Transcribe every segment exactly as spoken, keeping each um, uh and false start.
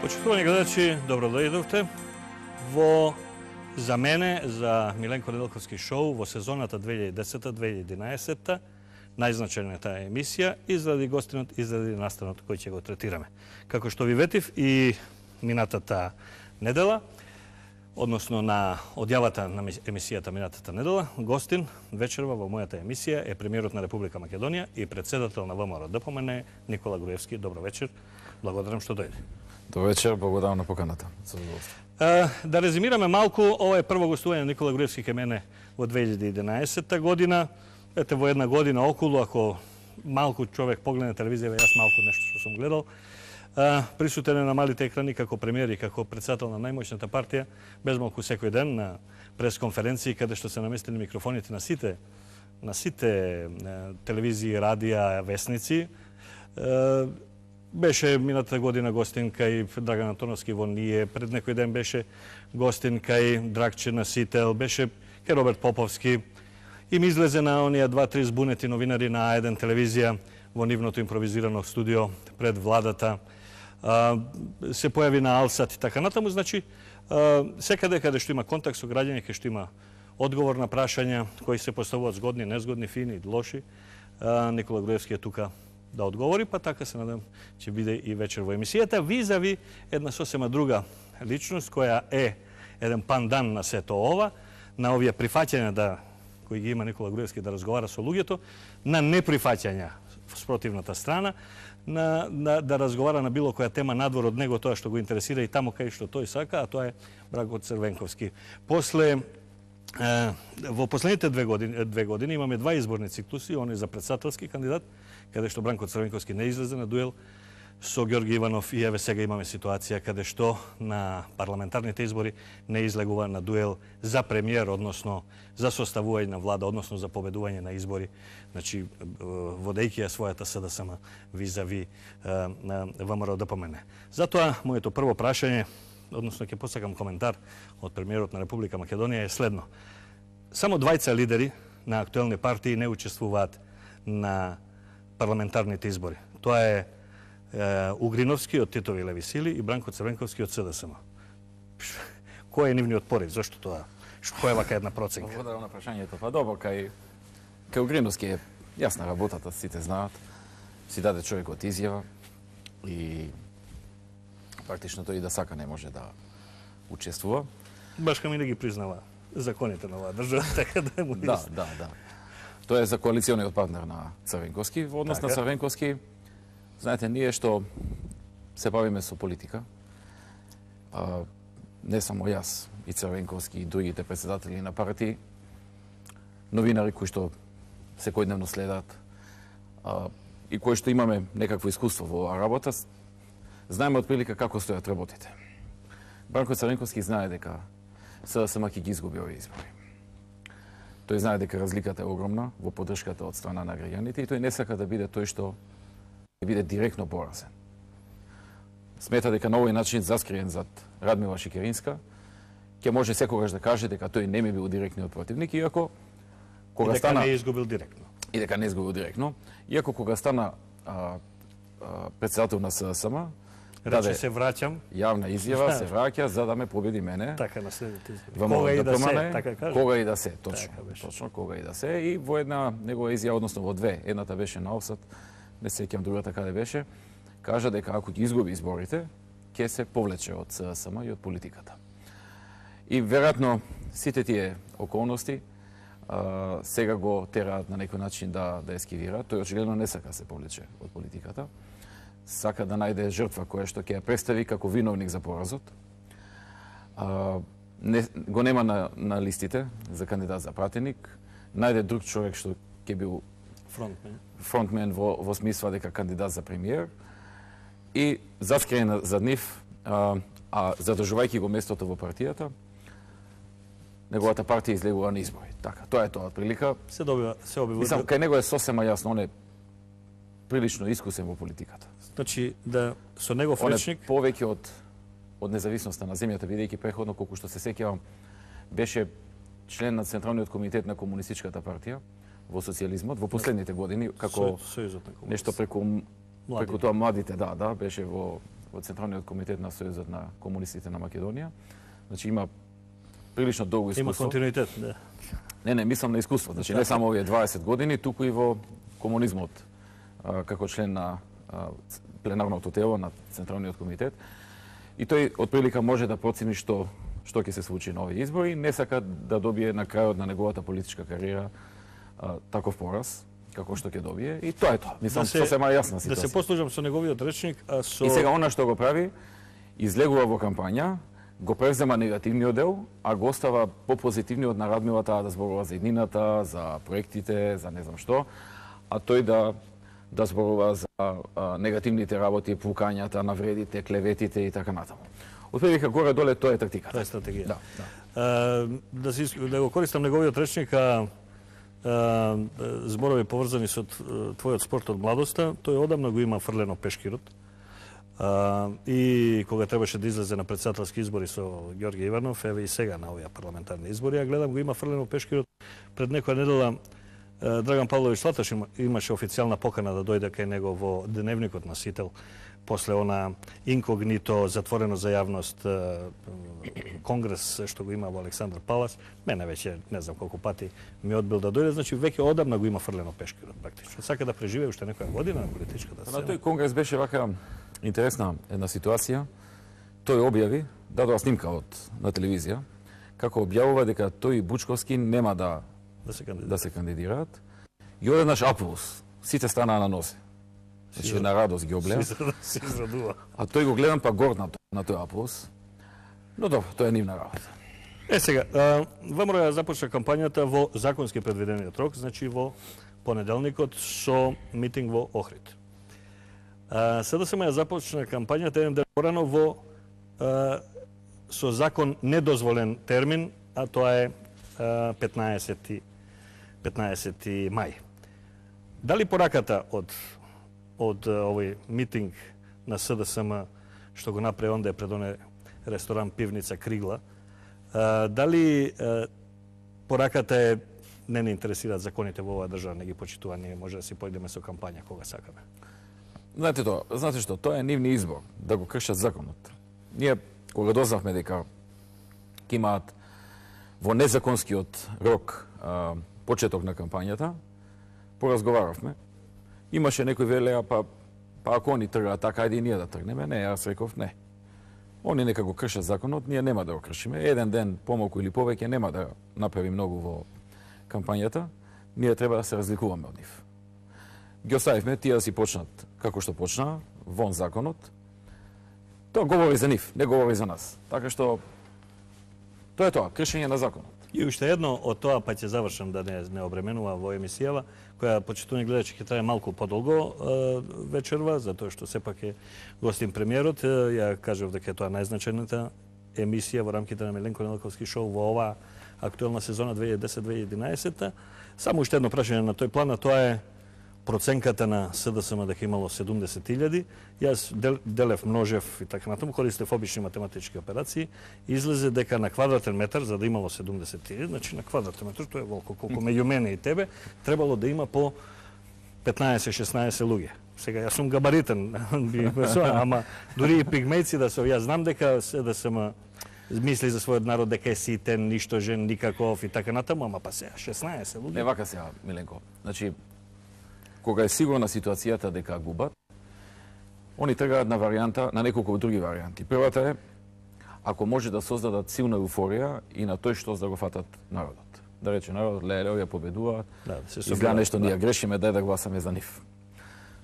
Почитувани гледачи, добро дојдовте во за мене, за Миленко Неделковски шоу во сезоната две илјади и десета две илјади и единаесета, најзначајната емисија изради гостинот, изради настанот кој ќе го третираме. Како што ви ветив и минатата недела, односно на одјавата на емисијата минатата недела, гостин вечерва во мојата емисија е премиерот на Република Македонија и председател на ВМРО ДПМН Никола Груевски. Добро вечер. Благодарам што дојде. Добро вечер, благодарам на поканата. Да резимираме малку, ова е прво гостување на Никола Груевски кај мене во две илјади и единаесета година. Ете, во една година околу, ако малку човек погледне телевизија, јас малку нешто што сум гледал, присутен е на малите екрани како премиер и како председател на најмоćната партија, без малку секој ден на пресконференции каде што се наместени микрофоните на сите на сите телевизии, радија, весници. Беше минатата година гостин кај Драган Антоновски во Ние, пред некој ден беше гостин кај Драгче Насител, беше кај Роберт Поповски. Им излезе на оние два-три збунети новинари на А еден телевизија во нивното импровизирано студио пред владата. Се појави на Алсат и така натаму. Значи, секаде каде што има контакт со граѓани, каде што има одговор на прашања кои се поставуваат згодни, незгодни, фини, лоши, Никола Груевски е тука да одговори, па така се надам ќе биде и вечер во емисијата. Визави една сосема друга личност која е еден пандан на сето ова, на овие прифаќања да кои ги има Никола Груевски да разговара со луѓето, на неприфаќања спротивната страна, на, на да разговара на било која тема надвор од него, тоа што го интересира и таму кај што тој сака, а тоа е Бранко Црвенковски. После е, во последните две години, две години имаме два изборни циклуси, оној за председателски кандидат, каде што Бранко Црвенковски не излезе на дуел со Ѓорги Иванов, и еве сега имаме ситуација каде што на парламентарните избори не излегува на дуел за премиер, односно за составување на влада, односно за победување на избори, значи водејќи ја својата СДСМ визави на ВМРО ДПМН. Затоа моето прво прашање, односно ќе посакам коментар од премиерот на Република Македонија е следно. Само двајца лидери на актуелни партии не учествуваат на парламентарните избори. Тоа е Угриновски од Титови леви сили и Бранко Црвенковски од СДСМ. Кој е нивниот порив? Зошто тоа? Која е вака една проценка? Благодарам на прашањето. Па добро, кај кај Угриновски е јасна работата, сите знаат. Си даде човекот изјава и практично тој и да сака не може да учествува. Баш кај ми не ги признава законите на оваа држава, така да му Да, да, да. Тој е за коалициониот партнер на Црвенковски. Во однос на Црвенковски, знаете, ние што се бавиме со политика, а, не само јас, и Црвенковски, и другите председатели на партии, новинари кои што секојдневно следат, а, и кои што имаме некакво искуство во оваа работа, знаеме отприлика како стојат работите. Бранко Црвенковски знае дека СДСМ ќе ги изгуби овие избори. Тој знае дека разликата е огромна во поддршката од страна на граѓаните и тој не сака да биде тој што ќе биде директно поразен. Смета дека на овој начин, заскриен зад Радмила Шикеринска, ќе може секогаш да каже дека тој не ми бил директниот противник, иако кога и дека стана не изгубил директно. И дека не изгубил директно, иако кога стана а, а, председател на СДСМ, рече се враќам, јавна изјава, се враќа за да ме победи мене. Така на следните избори. Кога и да се, така кажа. Кога и да се, точно. Така точно кога и да се, и во една негова изјава, односно во две, едната беше на Овсат, не се сеќам другата каде беше, кажа дека ако ги изгуби изборите, ќе се повлече од СДСМ и од политиката. И веројатно сите тие околности а, сега го тераат на некој начин да да ескивира. Тој очигледно не сака се повлече од политиката. Сака да најде жртва која што ќе ја представи како виновник за поразот. А, не, го нема на, на листите за кандидат за пратеник. Најде друг човек што ќе бил фронтмен, фронтмен во, во смисла дека кандидат за премиер. И заскриен за нив, а, а задржувајќи го местото во партијата, неговата партија излегува на избори. Така, тоа е тоа прилика. Се добива, се обива. Мислам, кај него е сосема јасно, он е прилично искусен во политиката. Значи, да со негов Он е речник повеќе од од независноста на земјата, бидејќи преходно, колку што се сеќавам, беше член на Централниот комитет на Комунистичката партија во социјализмот во последните години, како Сојузот на комунистите. нешто преку преку тоа младите, да, да, беше во во Централниот комитет на Сојузот на комунистите на Македонија. Значи има прилично долго искуство. Има континуитет, да. Не, не, мислам на искуство. Значи не само овие дваесет години, туку и во комунизмот а, како член на а, пленарното тело на Централниот комитет. И тој отприлика може да процени што што ќе се случи на овие избори, не сака да добие на крајот на неговата политичка кариера а, таков пораз како што ќе добие, и тоа е тоа. Мислам, да се, сосема јасна ситуација. Да се послужам со неговиот речник, а со... И сега она што го прави, излегува во кампања, го превзема негативниот дел, а го остава по-позитивниот на Радмила да зборува за иднината, за проектите, за не знам што, а тој да да зборува за а, негативните работи, пукањата, навредите, клеветите и така натаму. Отприлика горе-доле тоа е тактиката. Тоа е стратегија. Да, да. А, да, си, да го користам неговиот речник, а, а, зборови поврзани со твојот спорт од младоста, тој одамна го има фрлено пешкирот. А, и кога требаше да излезе на претседателски избори со Ѓорги Иванов, еве и сега на овие парламентарни избори, ја гледам го има фрлено пешкирот. Пред некоја недела Драган Павлович Слаташ имаше официјална покана да дојде кај него во дневникот на Сител, после она инкогнито, затворено за јавност конгрес што го има во Александар Палас. Мене веќе не знам колку пати ми одбил да дојде, значи веќе одамна го има фрлено пешкирот практично. Сака да преживее уште некоја година на политичката сцена. На тој конгрес беше вака интересна една ситуација. Тој објави, дадоа снимка од на телевизија, како објавува дека тој и Бучковски нема да да се кандидираат. Да се кандидираат. И одеднаш аплауз. Сите станаа на нозе. Значи на радост ги облеа. Се израдува. А тој го гледам па горд на, на тој аплауз. Но добро, тоа е нивна работа. Е сега, ВМРО започна кампањата во законски предвидениот рок, значи во понеделникот со митинг во Охрид. СДСМ ја започна кампањата еден ден порано во а, со закон недозволен термин, а тоа е петнаесети мај. Дали пораката од од овој митинг на СДСМ што го направи онде пред оне ресторан пивница Кригла, дали пораката е не не интересираат законите во оваа држава, не ги почитува, ние може да си појдеме со кампања кога сакаме? Знаете тоа, знаете што, тоа е нивни избор да го кршат законот. Ние кога дознавме дека ќе имаат во незаконскиот рок а, почеток на кампањата, поразговаравме. Имаше некои велеа, па, па ако они тргаат така, ајде и ние да тргнеме. Не, јас реков не. Они нека го кршат законот, ние нема да го кршиме. Еден ден помалку или повеќе нема да направи многу во кампањата. Ние треба да се разликуваме од нив. Ги оставивме тие да си почнат како што почнаа, вон законот. Тоа говори за нив, не говори за нас. Така што тоа е тоа, кршење на законот. И уште едно од тоа, па ќе завршам да не, не обременува во емисијава, која почитувани гледачи ќе трае малку подолго вечерва, затоа што сепак е гостин премиерот. Ја кажав дека е тоа најзначајната емисија во рамките на Миленко Нелаковски шоу во оваа актуелна сезона две илјади и десет - две илјади и единаесета. Само уште едно прашање на тој план, а тоа е проценката на СДСМ дека имало седумдесет илјади. Јас дел, делев, множев и така натаму, користев обични математички операции, излезе дека на квадратен метар, за да имало седумдесет илјади, значи на квадратен метар, тоа е волко колку меѓу мене и тебе, требало да има по петнаесет - шеснаесет луѓе. Сега јас сум габаритен, ама дури и пигмејци да се, јас знам дека СДСМ мисли за својот народ дека е ситен, ништожен, никаков и така натаму, ама па сега шеснаесет луѓе. Не вака сега, Миленко. Значи, кога е сигурна ситуацијата дека губат, они тргаат на варијанта, на неколку други варијанти. Првата е, ако може да создадат силна еуфорија и на тој што да го фатат народот. Да рече народот, леле, овие победуваат, да, се изгледа нешто ние грешиме, дај да гласаме за нив.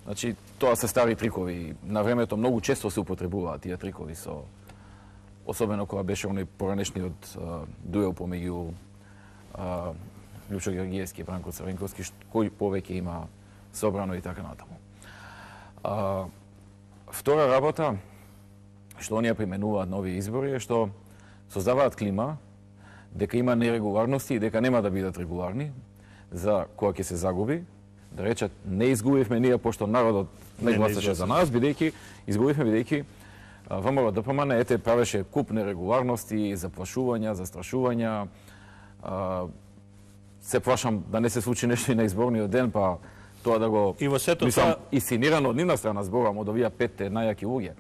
Значи, тоа се стари трикови. На времето многу често се употребуваат тие трикови со особено кога беше оној поранешниот дуел помеѓу Лјупчо Георгиевски и Бранко Црвенковски, кој повеќе има собрано и така натаму. А, втора работа, што оние применуваат на овие избори, е што создаваат клима дека има нерегуларности и дека нема да бидат регуларни за кога ќе се загуби, да речат не изгубивме ние пошто народот не, не гласаше за нас, бидејќи изгубивме бидејќи ВМРО ДПМН ете правеше куп нерегуларности, заплашувања, застрашувања. А, се плашам да не се случи нешто и на изборниот ден, па тоа да го... И во сето мислам, тоа... Исценирано од нивна страна зборам од овие петте најаки луѓе.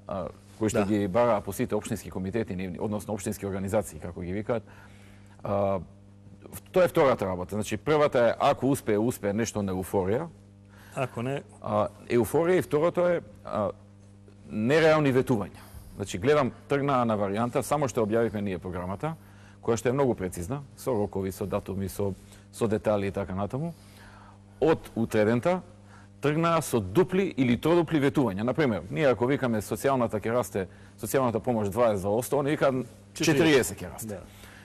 а, кои што Да. ги бараа по сите општински комитети, нивни, односно општински организации, како ги викаат. А, тоа е втората работа. Значи, првата е, ако успее, успее нешто на еуфорија. Ако не, А, еуфорија и второто е а, нереални ветувања. Значи, гледам, тргнаа на варијанта, само што објавивме ние програмата, која што е многу прецизна, со рокови, со датуми, со, со детали и така натаму. Од утредента тргнаа со дупли или тродупли ветувања. Например, ние ако викаме социјалната ќе расте, социјалната помош дваесет за осто, они викаат четириесет ќе расте. да.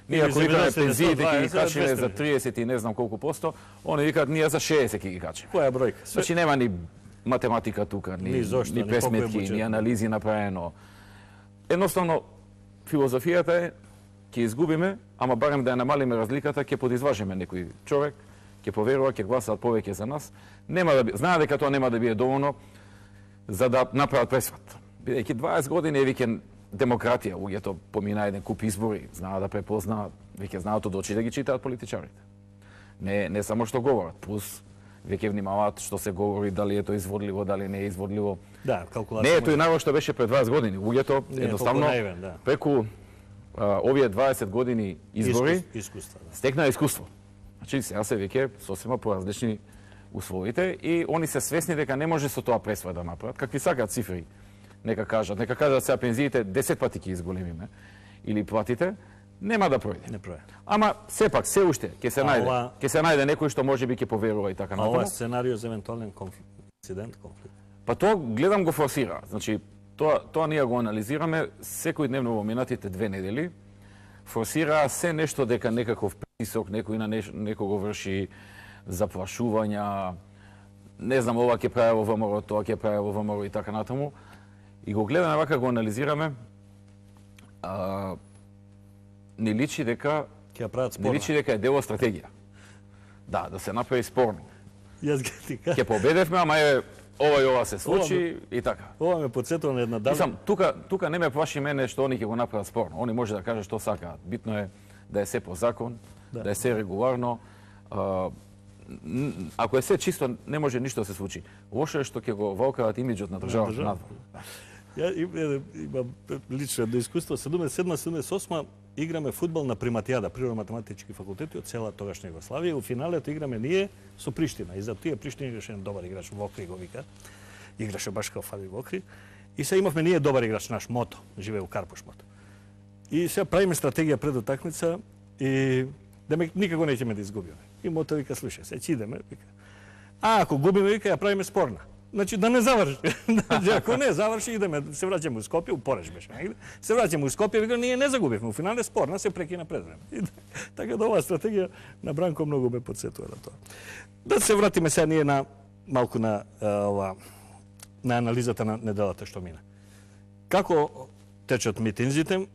Ние Или ако за викаме дваесет, пензиите ќе ги за качиме за двесте. триесет и не знам колку посто, они викаат ние за шеесет ќе ги качиме. која е бројка? Све- Значи нема ни математика тука, ни, Ни зошто, ни ни колку е пресметки, буџет. ни анализи направено. Едноставно, филозофијата е, ќе изгубиме, ама барем да ја намалиме разликата, ќе подизважиме некој човек, ќе поверува, ќе гласаат повеќе за нас. Нема да би... Знае дека тоа нема да биде доволно за да направат пресват. Бидејќи дваесет години е веќе демократија, луѓето помина еден куп избори, знаат да препознаат, веќе знаат од очи да ги читаат политичарите. Не, не само што говорат, плюс веќе внимаваат што се говори, дали е тоа изводливо, дали не е изводливо. Да, калкулација. Не е тој најво што беше пред дваесет години. Луѓето Не е едноставно толку наивен, да. преку а, овие дваесет години избори Искус- искуства, да. стекнаа искуство. Значи сега се веќе сосема поразлични условите и они се свесни дека не може со тоа пресвој да направат. Какви сакаат цифри, нека кажат, нека кажат сега пензиите десет пати ќе изголемиме или платите, нема да пројде. Не пројде. Ама сепак се уште ќе се А најде, ова- ќе се најде некој што можеби ќе поверува и така А ова натаму. е сценарио за евентуален конфликт, инцидент, конфликт. Па тоа гледам го форсира. Значи тоа тоа ние го анализираме секој дневно во минатите две недели. Форсира се нешто дека некаков притисок некој на неш, некого врши заплашувања, не знам ова ќе прави во ВМРО, тоа ќе прави во ВМРО и така натаму. И го гледаме вака го анализираме. А, не личи дека Ќе ја прават не спорно. личи дека е дел од стратегија. Да, да се направи спорно. Јас ги ти кажам. Ќе победевме, ама е ова и ова се случи и така. Ова ме потсетува на една давна. Мислам, тука, тука не ме плаши мене што они ќе го направат спорно. Они може да кажат што сакаат. Битно е да е се по закон, да, Да. е се регуларно. А, н- ако е се чисто, не може ништо да се случи. Лошо е што ќе го волкаат имиџот на државата држава. надвор. Ја им- имам лично едно искуство. седумдесет и седма седумдесет и осма играме фудбал на Приматијада, природно-математички факултети од цела тогашна Југославија. И у финалето играме ние со Приштина. И за тие Приштина играше еден добар играч, Вокри го вика. Играше баш као Фаби Вокри. И се имавме ние добар играч, наш Мото, живее у Карпуш Мото. И сега правиме стратегија пред утакмица и демек никако неќеме да изгубиме. И Мото вика, слушај, се ќе идеме, вика. А ако губиме, вика, ја правиме спорна. Значи да не заврши. Значи, ако не заврши, идеме, се враќаме у Скопје, у Пореш беше негде. Се враќаме у Скопје, вика, ние не загубивме. У финале спорна се прекина пред време. И, така да оваа стратегија на Бранко многу ме потсетува на тоа. Да се вратиме сега ние на малку на а, ова на анализата на неделата што мина. Како течат митинзите?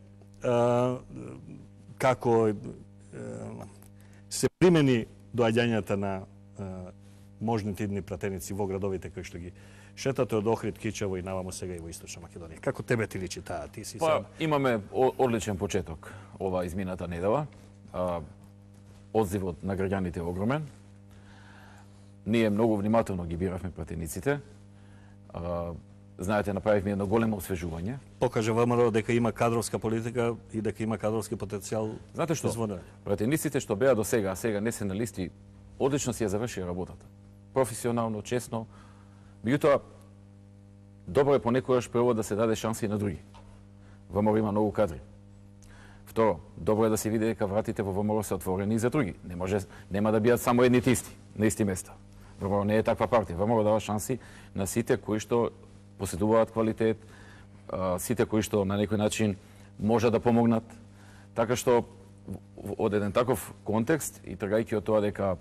А, како а, се примени доаѓањата на а, можните идни пратеници во градовите кои што ги шетате од Охрид, Кичево и навамо сега и во Источна Македонија. Како тебе ти личи таа? Ти си Па, сам. имаме о- одличен почеток ова измината недела. А, одзивот на граѓаните е огромен. Ние многу внимателно ги биравме пратениците. А, знаете, направивме едно големо освежување. Покажа ВМРО дека има кадровска политика и дека има кадровски потенцијал. Знаете што? Изводен. Пратениците што беа до сега, а сега не се на листи, одлично си ја завршија работата. Професионално, честно. Меѓутоа, добро е понекогаш прво да се даде шанси и на други. ВМРО има многу кадри. Второ, добро е да се види дека вратите во ВМРО се отворени и за други. Не може, нема да бидат само едните исти, на исти места. ВМРО не е таква партија. ВМРО дава шанси на сите кои што поседуваат квалитет, а, сите кои што на некој начин може да помогнат. Така што в- од еден таков контекст и тргајќи од тоа дека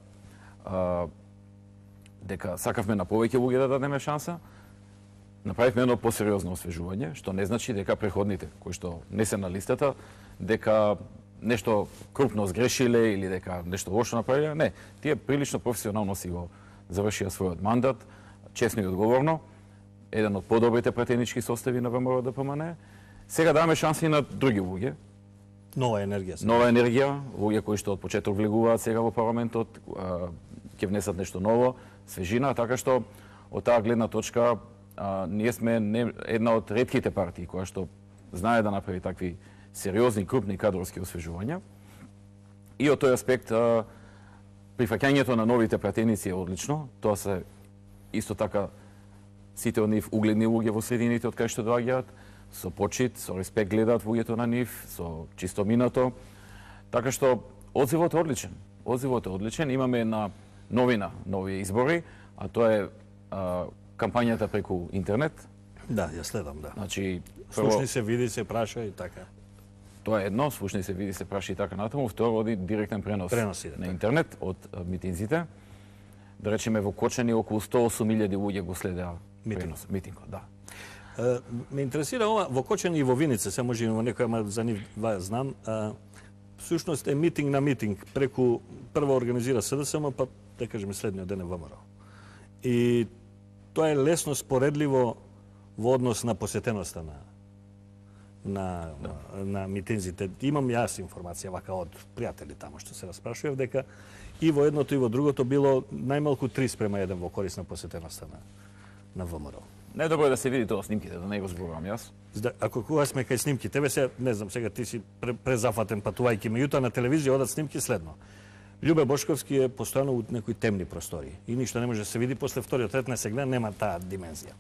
а, дека сакавме на повеќе луѓе да дадеме шанса, направивме едно посериозно освежување, што не значи дека преходните кои што не се на листата, дека нешто крупно сгрешиле или дека нешто лошо направиле. Не, тие прилично професионално си го завршија својот мандат, честно и одговорно, еден од подобрите пратенички состави на ВМРО ДПМН. Сега даваме шанси и на други луѓе, Нова енергија. сега. нова енергија, луѓе кои што од почеток влегуваат сега во парламентот, а, ќе внесат нешто ново, свежина, така што од таа гледна точка а, ние сме не, една од ретките партии која што знае да направи такви сериозни, крупни кадровски освежувања. И од тој аспект, а, прифаќањето на новите пратеници е одлично. Тоа се исто така сите од нив угледни луѓе во средините од кај што доаѓаат, со почит, со респект гледаат луѓето на нив, со чистоминато. Така што одзивот е одличен. Одзивот е одличен. Имаме една новина, нови избори, а тоа е а, кампањата преку интернет. Да, ја следам, да. Значи, слушни се, види се, праша и така. Тоа е едно, слушни се, види се, праша и така натаму. Второ, оди директен пренос Преноси, да, на така. интернет од а, митинзите. Да речеме во Кочани околу сто и осум илјади луѓе го следеа пренос, митингот, да. Uh, ме интересира ова, во Кочани и во Виница, се може и во некоја, ама за нив два знам, uh, всушност е митинг на митинг, преку прво организира СДСМ, па да кажеме следниот ден е ВМРО. И тоа е лесно споредливо во однос на посетеноста на на, да. на, на митинзите. Имам јас информација вака од пријатели тамо што се распрашував дека и во едното и во другото било најмалку три спрема еден во корис на посетеноста на на ВМРО. Најдобро е да се види тоа снимките, да не го зборувам јас. Да, ако кога сме кај снимки, тебе се, не знам, сега ти си презафатен патувајќи, меѓутоа на телевизија одат снимки следно. Љубе Бошковски е постојано у некои темни простори и ништо не може да се види, после вториот ред не се гледа, нема таа димензија.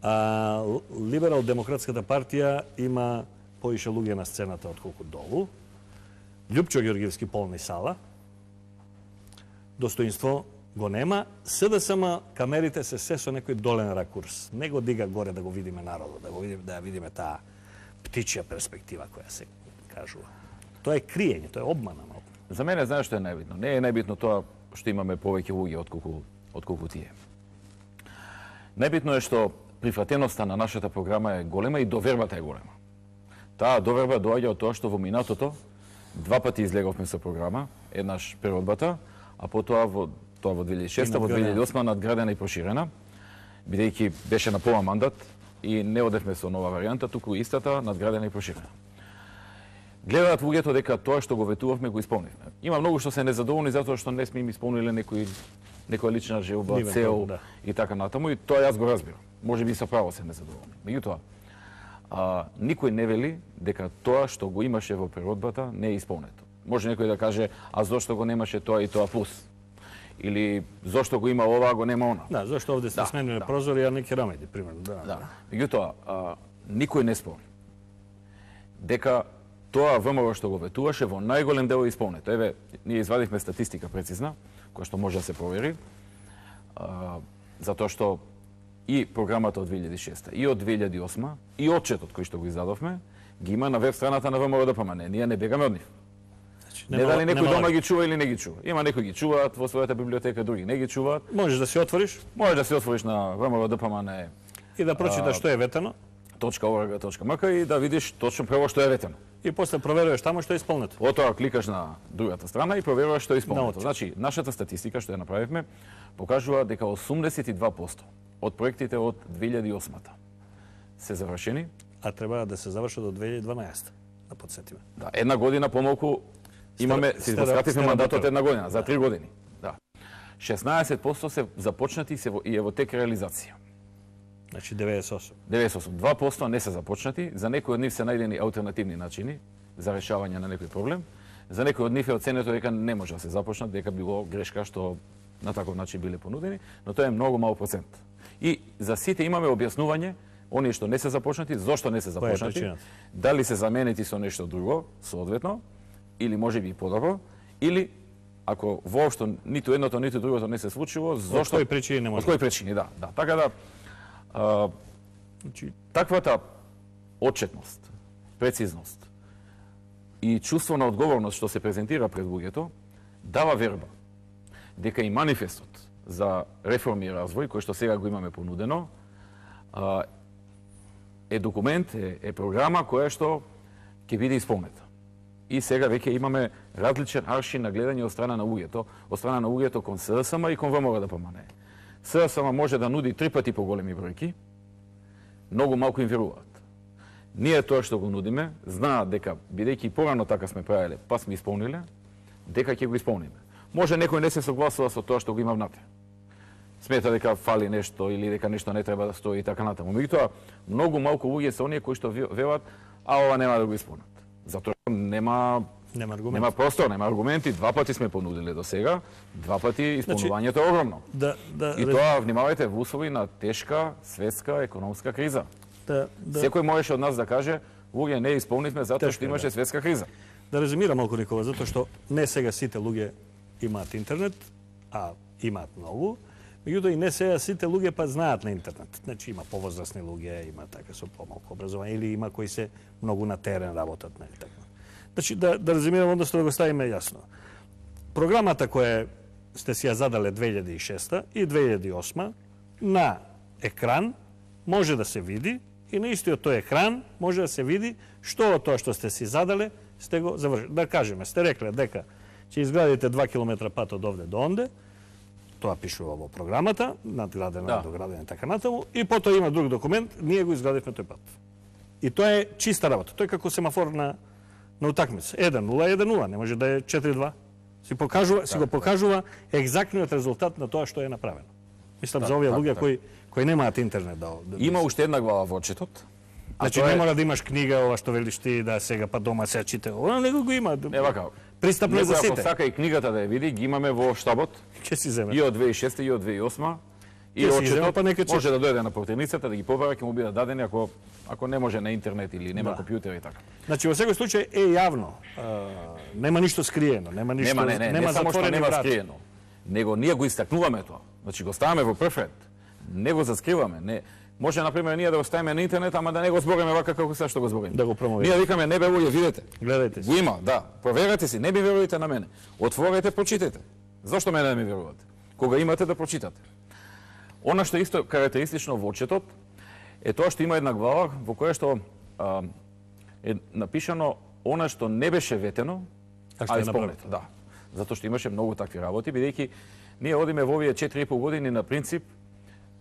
А, Либерал-демократската партија има поише луѓе на сцената отколку долу. Љупчо Ѓоргиевски полни сала. Достоинство го нема. СДСМ камерите се се со некој долен ракурс. Не го дига горе да го видиме народот, да го видиме, да ја видиме таа птичја перспектива која се кажува. Тоа е криење, тоа е обмана малку. За мене знаеш што е најбитно? Не е најбитно тоа што имаме повеќе луѓе отколку отколку тие. Најбитно е што прифатеноста на нашата програма е голема и довербата е голема. Таа доверба доаѓа од тоа што во минатото два пати излеговме со програма, еднаш природбата, а потоа во тоа во две илјади и шеста, во две илјади и осма надградена и проширена, бидејќи беше на пола мандат и не одевме со нова варијанта, туку истата надградена и проширена. Гледаат луѓето дека тоа што го ветувавме го исполнивме. Има многу што се незадоволни затоа што не сме им исполниле некој некоја лична желба, цел да. И така натаму, и тоа јас го разбирам. Може би со право се незадоволни. Меѓутоа, а, никој не вели дека тоа што го имаше во природбата не е исполнето. Може некој да каже, а зошто го немаше тоа и тоа плюс? Или зошто го има ова, а го нема она? Да, зошто овде се да, смениле да. Прозори, а неки рамеди, примерно. Да. Да. Меѓутоа, а, никој не спори дека тоа ВМРО што го ветуваше во најголем дел е исполнето. Еве, ние извадивме статистика прецизна, која што може да се провери, а, затоа што и програмата од две илјади и шеста, и од две илјади и осма, и отчетот кој што го издадовме, ги има на веб страната на ВМРО-ДПМН. Ние не бегаме од нив. Значи, не дали некој дома ги чува или не ги чува. Има некои ги чуваат во својата библиотека, други не ги чуваат. Можеш да се отвориш? Можеш да се отвориш на ВМРО-ДПМН и да прочиташ што е ветено. .org.mk и да видиш точно прво што е ветено. И после проверуваш таму што е исполнето. Потоа кликаш на другата страна и проверуваш што е исполнето. Значи, нашата статистика што ја направивме покажува дека осумдесет и два проценти од проектите од две илјади и осма се завршени, а треба да се завршат до две илјади и дванаесета. Да подсетиме. Да, една година помалку имаме, се искративме мандатот една година, за три години. Да. шеснаесет проценти се започнати и, се во, и е во тек реализација. Значи деветдесет и осум. деветдесет и осум. два проценти не се започнати, за некои од нив се најдени алтернативни начини за решавање на некој проблем. За некои од нив е оценето дека не може да се започнат, дека било грешка што на таков начин биле понудени, но тоа е многу мал процент. И за сите имаме објаснување, оние што не се започнати, зошто не се започнати, дали се заменети со нешто друго, соодветно, или може би подобро, или ако воопшто ниту едното, ниту другото не се случило, зошто... Од кои причини не може? Од кои причини, да. да. Така да, а, значи... таквата отчетност, прецизност и чувство на одговорност што се презентира пред луѓето, дава верба дека и манифестот за реформи и развој, кој што сега го имаме понудено, а, е документ, е, е програма која што ќе биде исполнета. И сега веќе имаме различен аршин на гледање од страна на луѓето, од страна на луѓето кон СДСМ и кон ВМРО-ДПМН. СДСМ може да нуди три пати поголеми бројки, многу малку им веруваат. Ние тоа што го нудиме, знаат дека, бидејќи порано така сме правиле, па сме исполниле, дека ќе го исполниме. Може некој не се согласува со тоа што го има внатре. смета дека фали нешто или дека нешто не треба да стои и така натаму. Меѓутоа, многу малку луѓе се оние кои што велат, а ова нема да го исполнат. Затоа нема Нема аргумент. Нема простор, нема аргументи. Два пати сме понудиле до сега, два пати исполнувањето е огромно. Да, да, и тоа, внимавајте, во услови на тешка светска економска криза. Да, да. Секој можеше од нас да каже, луѓе не исполнивме затоа што имаше светска криза. Да резумирам малку, Никола, затоа што не сега сите луѓе имаат интернет, а имаат многу. Меѓутоа и не сега сите луѓе па знаат на интернет. Значи има повозрасни луѓе, има така со помалку образование или има кои се многу на терен работат, нели така. Значи, да, да резумирам, односно да го ставиме јасно. Програмата која сте си ја задале две илјади и шеста и две илјади и осма на екран може да се види и на истиот тој екран може да се види што од тоа што сте си задале сте го завршили. Да кажеме, сте рекле дека ќе изградите два километра пат од овде до онде, тоа пишува во програмата, надградено, да. Доградено и така натаму, и потоа има друг документ, ние го изградивме тој пат. И тоа е чиста работа. Тој е како семафор на на утакмица. еден нула еден нула, не може да е четири два. Си покажува, так, си го покажува екзактниот резултат на тоа што е направено. Мислам так, за овие луѓе кои кои немаат интернет да, да има уште една глава во отчетот. Значи не е... мора да имаш книга ова што велиш ти да сега па дома се чита. Ова него го има. Не вака. Пристапно за сите. Ако сака и книгата да ја види, ги имаме во штабот. Ќе си земе. И од две илјади и шеста и од две илјади и осма. И отчетот па може да дојде на портерницата да ги побара, ќе му бидат дадени ако ако не може на интернет или нема да. Компјутер и така. Значи во секој случај е јавно. А, нема ништо скриено, нема ништо, нема, не, не, нема не само што нема врат. Скриено. Него ние го истакнуваме тоа. Значи го ставаме во прв ред. Не го заскриваме, не. Може на пример ние да го ставиме на интернет, ама да не го збориме вака како се што го збориме. Да го промовираме. Ние викаме не бе луѓе, видете. Гледајте си. Го има, да. Проверете си, не би верувате на мене. Отворете, прочитете. Зошто мене да ми верувате? Кога имате да прочитате. Она што исто карактеристично во отчетот е тоа што има една глава во која што а, е напишано она што не беше ветено, а исполнето. Да. Затоа што имаше многу такви работи, бидејќи ние одиме во овие четири и пол години на принцип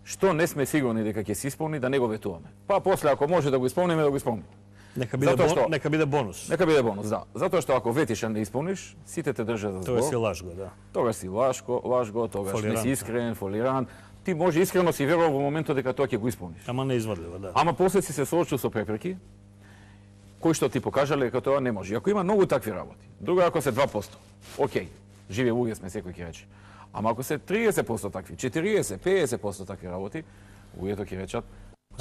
што не сме сигурни дека ќе се исполни да не го ветуваме. Па после ако може да го исполниме, да го исполниме. Нека биде бон, што, нека биде бонус. Нека биде бонус, да. Затоа што ако ветиш а не исполниш, сите те држат за збор. Тоа си лажго, да. Тогаш си лажго, лажго, тогаш не си искрен, фолирант. Ти може искрено си верувал во моментот дека тоа ќе го исполниш. Ама не извадливо, да. Ама после си се соочил со препреки, кои што ти покажале дека тоа не може. Ако има многу такви работи, друго ако се два проценти, окей, живи луѓе сме, секој ќе рече. Ама ако се триесет проценти такви, четириесет, педесет проценти такви работи, луѓето ќе речат,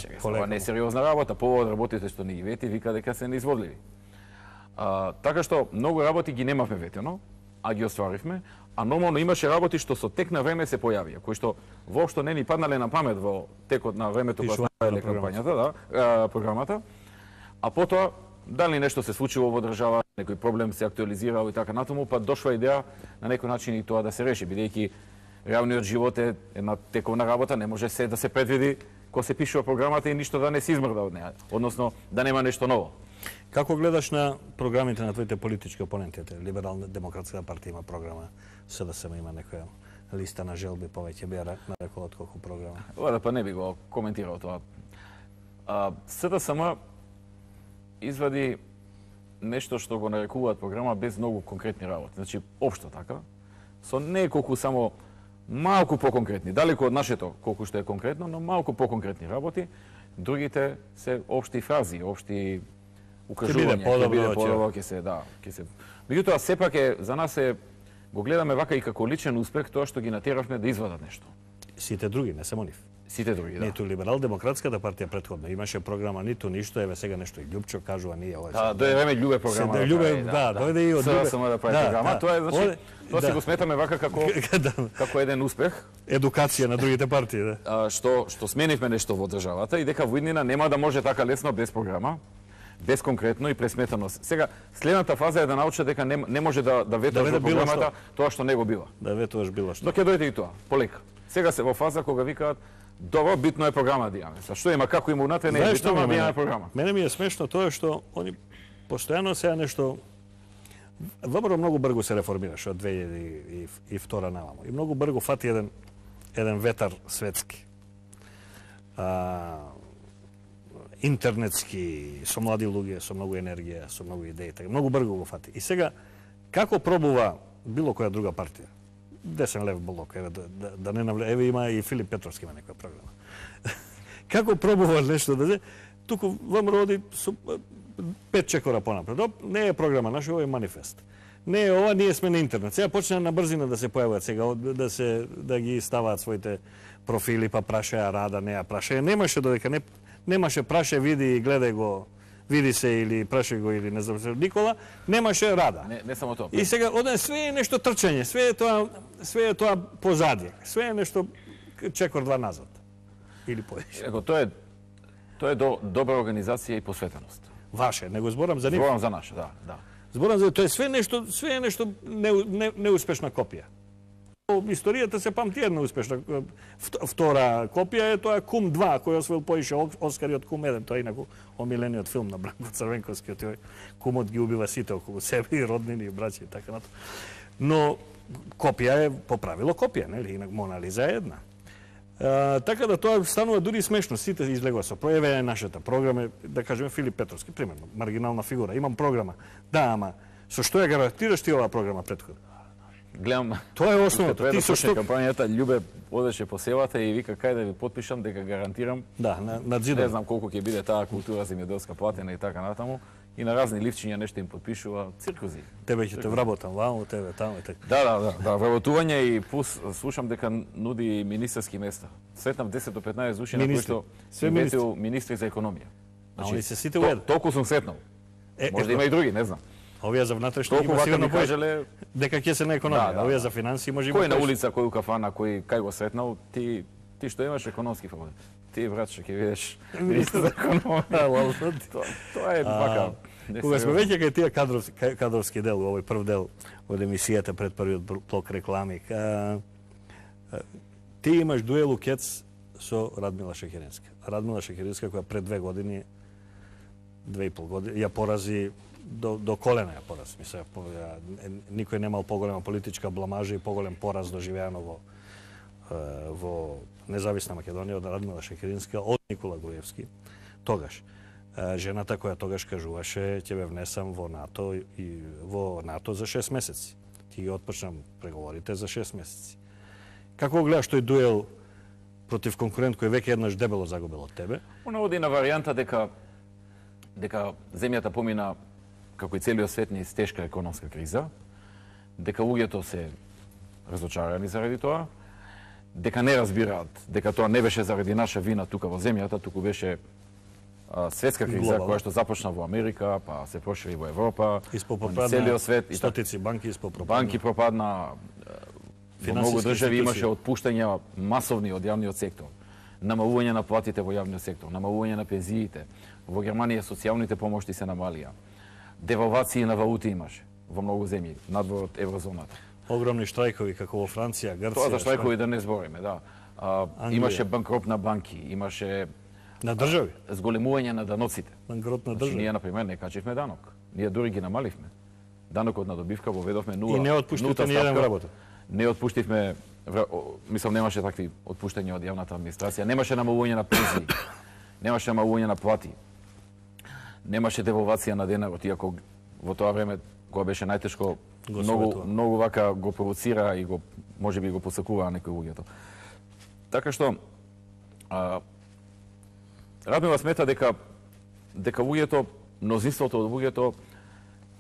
чекај, ова не е сериозна работа, повод работите што не ги вети, вика дека се неизводливи. А, така што многу работи ги немавме ветено, а ги остваривме, а нормално имаше работи што со тек на време се појавија, кои што воопшто не ни паднале на памет во текот на времето кога ставале кампањата, да, а, програмата. А потоа дали нешто се случило во држава, некој проблем се актуализирал и така натаму, па дошла идеја на некој начин и тоа да се реши, бидејќи реалниот живот е една тековна работа, не може се да се предвиди кога се пишува програмата и ништо да не се измрда од неа, односно да нема нешто ново. Како гледаш на програмите на твоите политички опоненти? Либерална демократска партија има програма, СДСМ има некоја листа на желби, повеќе би ја нарекол отколку програма. Ова па не би го коментирал тоа. А, СДСМ извади нешто што го нарекуваат програма без многу конкретни работи. Значи, општо така, со неколку само малку поконкретни, далеку од нашето колку што е конкретно, но малку поконкретни работи. Другите се општи фрази, општи укажувања, ќе биде подобро, ќе се, да, ќе се. Меѓутоа сепак е за нас е го гледаме вака и како личен успех тоа што ги натеравме да извадат нешто. Сите други, не само нив. Сите други, да. Ниту либерал-демократската партија претходно имаше програма, ниту ништо, еве сега нешто и Љупчо кажува ние ова. Да, дојде време Љубе програма. Да, Љубе, да, дојде и од Љубе. Само да прави програма, тоа е значи, тоа си го сметаме вака како како еден успех. Едукација на другите партии, да. А, што што сменивме нешто во државата и дека во иднина нема да може така лесно без програма, без конкретно и пресметано. Сега следната фаза е да научат дека не, не може да да ветуваш да во програмата тоа што не го била. Да ветуваш било што. Но ќе дојде и тоа, полека. Сега се во фаза кога викаат добро, битно е програма да имаме. Са што има, како има унатре, не е битно, ама да имаме програма. Мене ми е смешно тоа што они постојано сега нешто ВМРО многу брзо се реформираше од две илјади и втора наваму. И многу брзо фати еден еден ветар светски. А, интернетски, со млади луѓе, со многу енергија, со многу идеи, така многу брзо го фати. И сега како пробува било која друга партија десен лев блок, еве да, да, да не навле, еве има и Филип Петровски има некоја програма. Како пробува нешто да се, туку ВМРО роди со пет чекора понапред. Не е програма наша, ова е манифест. Не е ова, ние сме на интернет. Сега почна на брзина да се појавуваат сега, да се да ги ставаат своите профили, па прашаја рада, не ја прашаја. Немаше додека не немаше праше, види и гледај го, види се или прашај го или не знам се Никола, немаше рада. Не, не само тоа. И сега оде све е нешто трчање, све е тоа, све е тоа позади. Све е нешто чекор два назад. Или повеќе. Еко тоа е тоа е до, добра организација и посветеност. Ваше, него зборам за нив. Зборам за наше, да, да. Зборам за тоа е све нешто, све е нешто не, не, неуспешна копија. Историјата се памти една успешна. Втора копија е тоа Кум два, кој освоил поише Оскари од Кум еден, тоа е инаку омилениот филм на Бранко Црвенковски, тој Кумот ги убива сите околу себе и роднини и браќа и така натаму. Но копија е по правило копија, нели? Инак Мона Лиза е една. А, така да тоа станува дури смешно, сите излегува со пројаве нашата програма, да кажеме Филип Петровски, примерно, маргинална фигура, имам програма. Да, ама со што ја гарантираш ти оваа програма претходно? Гледам. Тоа е основното. Ти со што кампањата Љубе одеше по селата и вика кај да ви потпишам дека гарантирам. Да, на на зидот. Не знам колку ќе биде таа култура земјоделска платена и така натаму. И на разни ливчиња нешто им потпишува, циркузи. Тебе ќе те вработам ваму, тебе таму и така. Да, да, да, да, вработување и плюс слушам дека нуди министерски места. Сретнав десет до петнаесет души на кои што се ветил министри за економија. Значи, они се сите уед. Толку сум сретнал. Е, Може да има и други, не знам. Овие за внатрешно Толку има вака сигурно ми кажале дека ќе се на економија, да, да, овие да. за финансии може има. Кој на улица, кој у кафана, кој кај го сретнал, ти ти што имаш економски факултет. Ти брат што ќе видиш министер за економија. Тоа тоа е вака. Кога сме веќе кај тие кадровски кадровски дел, овој прв дел од емисијата пред првиот блок реклами, а, а, ти имаш дуел у Кец со Радмила Шекеринска. Радмила Шекеринска која пред две години, две и пол години, ја порази до, до колена ја пораз. Мисля, ја, никој немал поголема политичка бламажа и поголем пораз доживеано во, во независна Македонија од Радмила Шекеринска, од Никола Груевски. Тогаш. Жената која тогаш кажуваше ќе ве внесам во НАТО и во НАТО за шест месеци. Ти ги отпочнам преговорите за шест месеци. Како гледаш тој дуел против конкурент кој веќе еднаш дебело загубил од тебе? Она оди на варијанта дека дека земјата помина како и целиот свет низ тешка економска криза, дека луѓето се разочарани заради тоа, дека не разбираат дека тоа не беше заради наша вина тука во земјата, туку беше а, светска криза Глобал. која што започна во Америка, па се прошири во Европа, Испопропадна целиот свет и стотици банки испопропадна. банки пропадна, во многу Финансиски држави институции. имаше отпуштања масовни од јавниот сектор, намалување на платите во јавниот сектор, намалување на пензиите. Во Германија социјалните помошти се намалија. Девалвации на валути имаше во многу земји надвор од еврозоната. Огромни штрајкови како во Франција, Грција. Тоа за штрајкови да не збориме, да. А, имаше банкрот на банки, имаше на држави. зголемување на даноците. Банкрот на Значи, држави. ние на пример не качивме данок. Ние дури ги намаливме. Данокот на добивка го ведовме нула. И не отпуштивте нулта ни еден ставка. вработен. Не отпуштивме, вра- о, мислам немаше такви отпуштања од јавната администрација, немаше намалување на пензии, немаше намалување на плати. Немаше девалвација на денарот, иако во тоа време кога беше најтешко, Го многу советува. многу вака го провоцира и го можеби го посакуваа некои луѓето. Така што а, Радмила смета дека дека луѓето, мнозинството од луѓето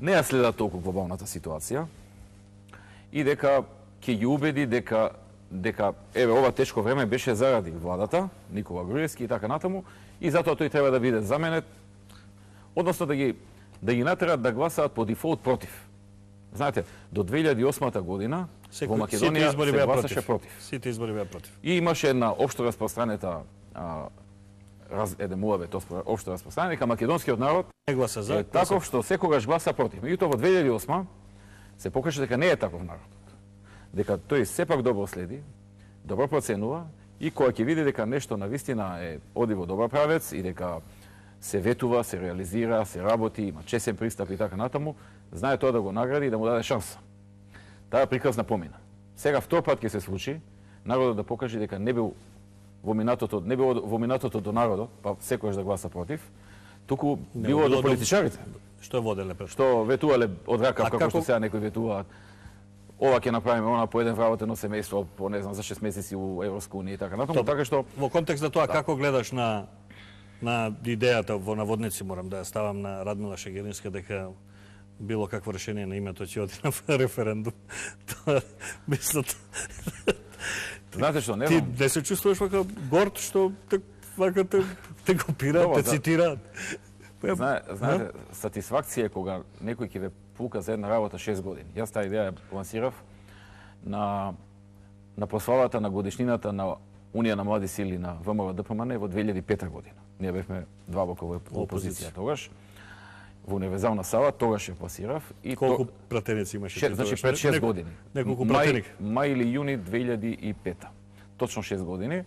не ја следат толку глобалната ситуација и дека ќе ги убеди дека дека еве ова тешко време беше заради владата Никола Груевски и така натаму и затоа тој треба да биде заменет, односно да ги да ги натерат да гласаат по дефолт против. Знаете, до две илјади и осма година во Македонија се гласаше против. против. Сите избори беа против. И имаше една општо распространета а, раз, еден муавет општо распространета, дека македонскиот народ Не гласа за. е таков што секогаш гласа против. Меѓутоа во две илјади и осма се покажа дека не е таков народот. Дека тој сепак добро следи, добро проценува и кога ќе види дека нешто на вистина е оди во добар правец и дека се ветува, се реализира, се работи, има чесен пристап и така натаму, знае тоа да го награди и да му даде шанса. Таа приказна помина. Сега втор пат ќе се случи народот да покаже дека не бил во минатото, не бил во минатото до народот, па секојаш да гласа против, туку Не, било било до до- политичарите, Што воделе пред? што ветувале од А ракав како како- што сега некои ветуваат ова ќе направиме, она по еден вработено семејство, по не знам за шест месеци у Европска унија и така натаму, така што во контекст на тоа како гледаш на на идејата во наводници, морам да ја ставам, на Радмила Шегеринска дека било какво решение на името ќе оди на референдум. Тоа мислам. Знаете што, не Ти знам. не се чувствуваш вака горд што те вака те те копираат, те цитираат. Знае, знаете, сатисфакција е кога некој ќе ве пука за една работа шест години. Јас таа идеја ја лансирав на на прославата на годишнината на Унија на млади сили на ВМРО-ДПМН во две илјади и пета година. Ние бевме два бока во опозиција тогаш. Во универзална сала тогаш ја пласирав и колку пратеници имаше? Шест, значи пред шест години. Неколку пратеника. Мај или јуни две илјади и пета. Точно шест години.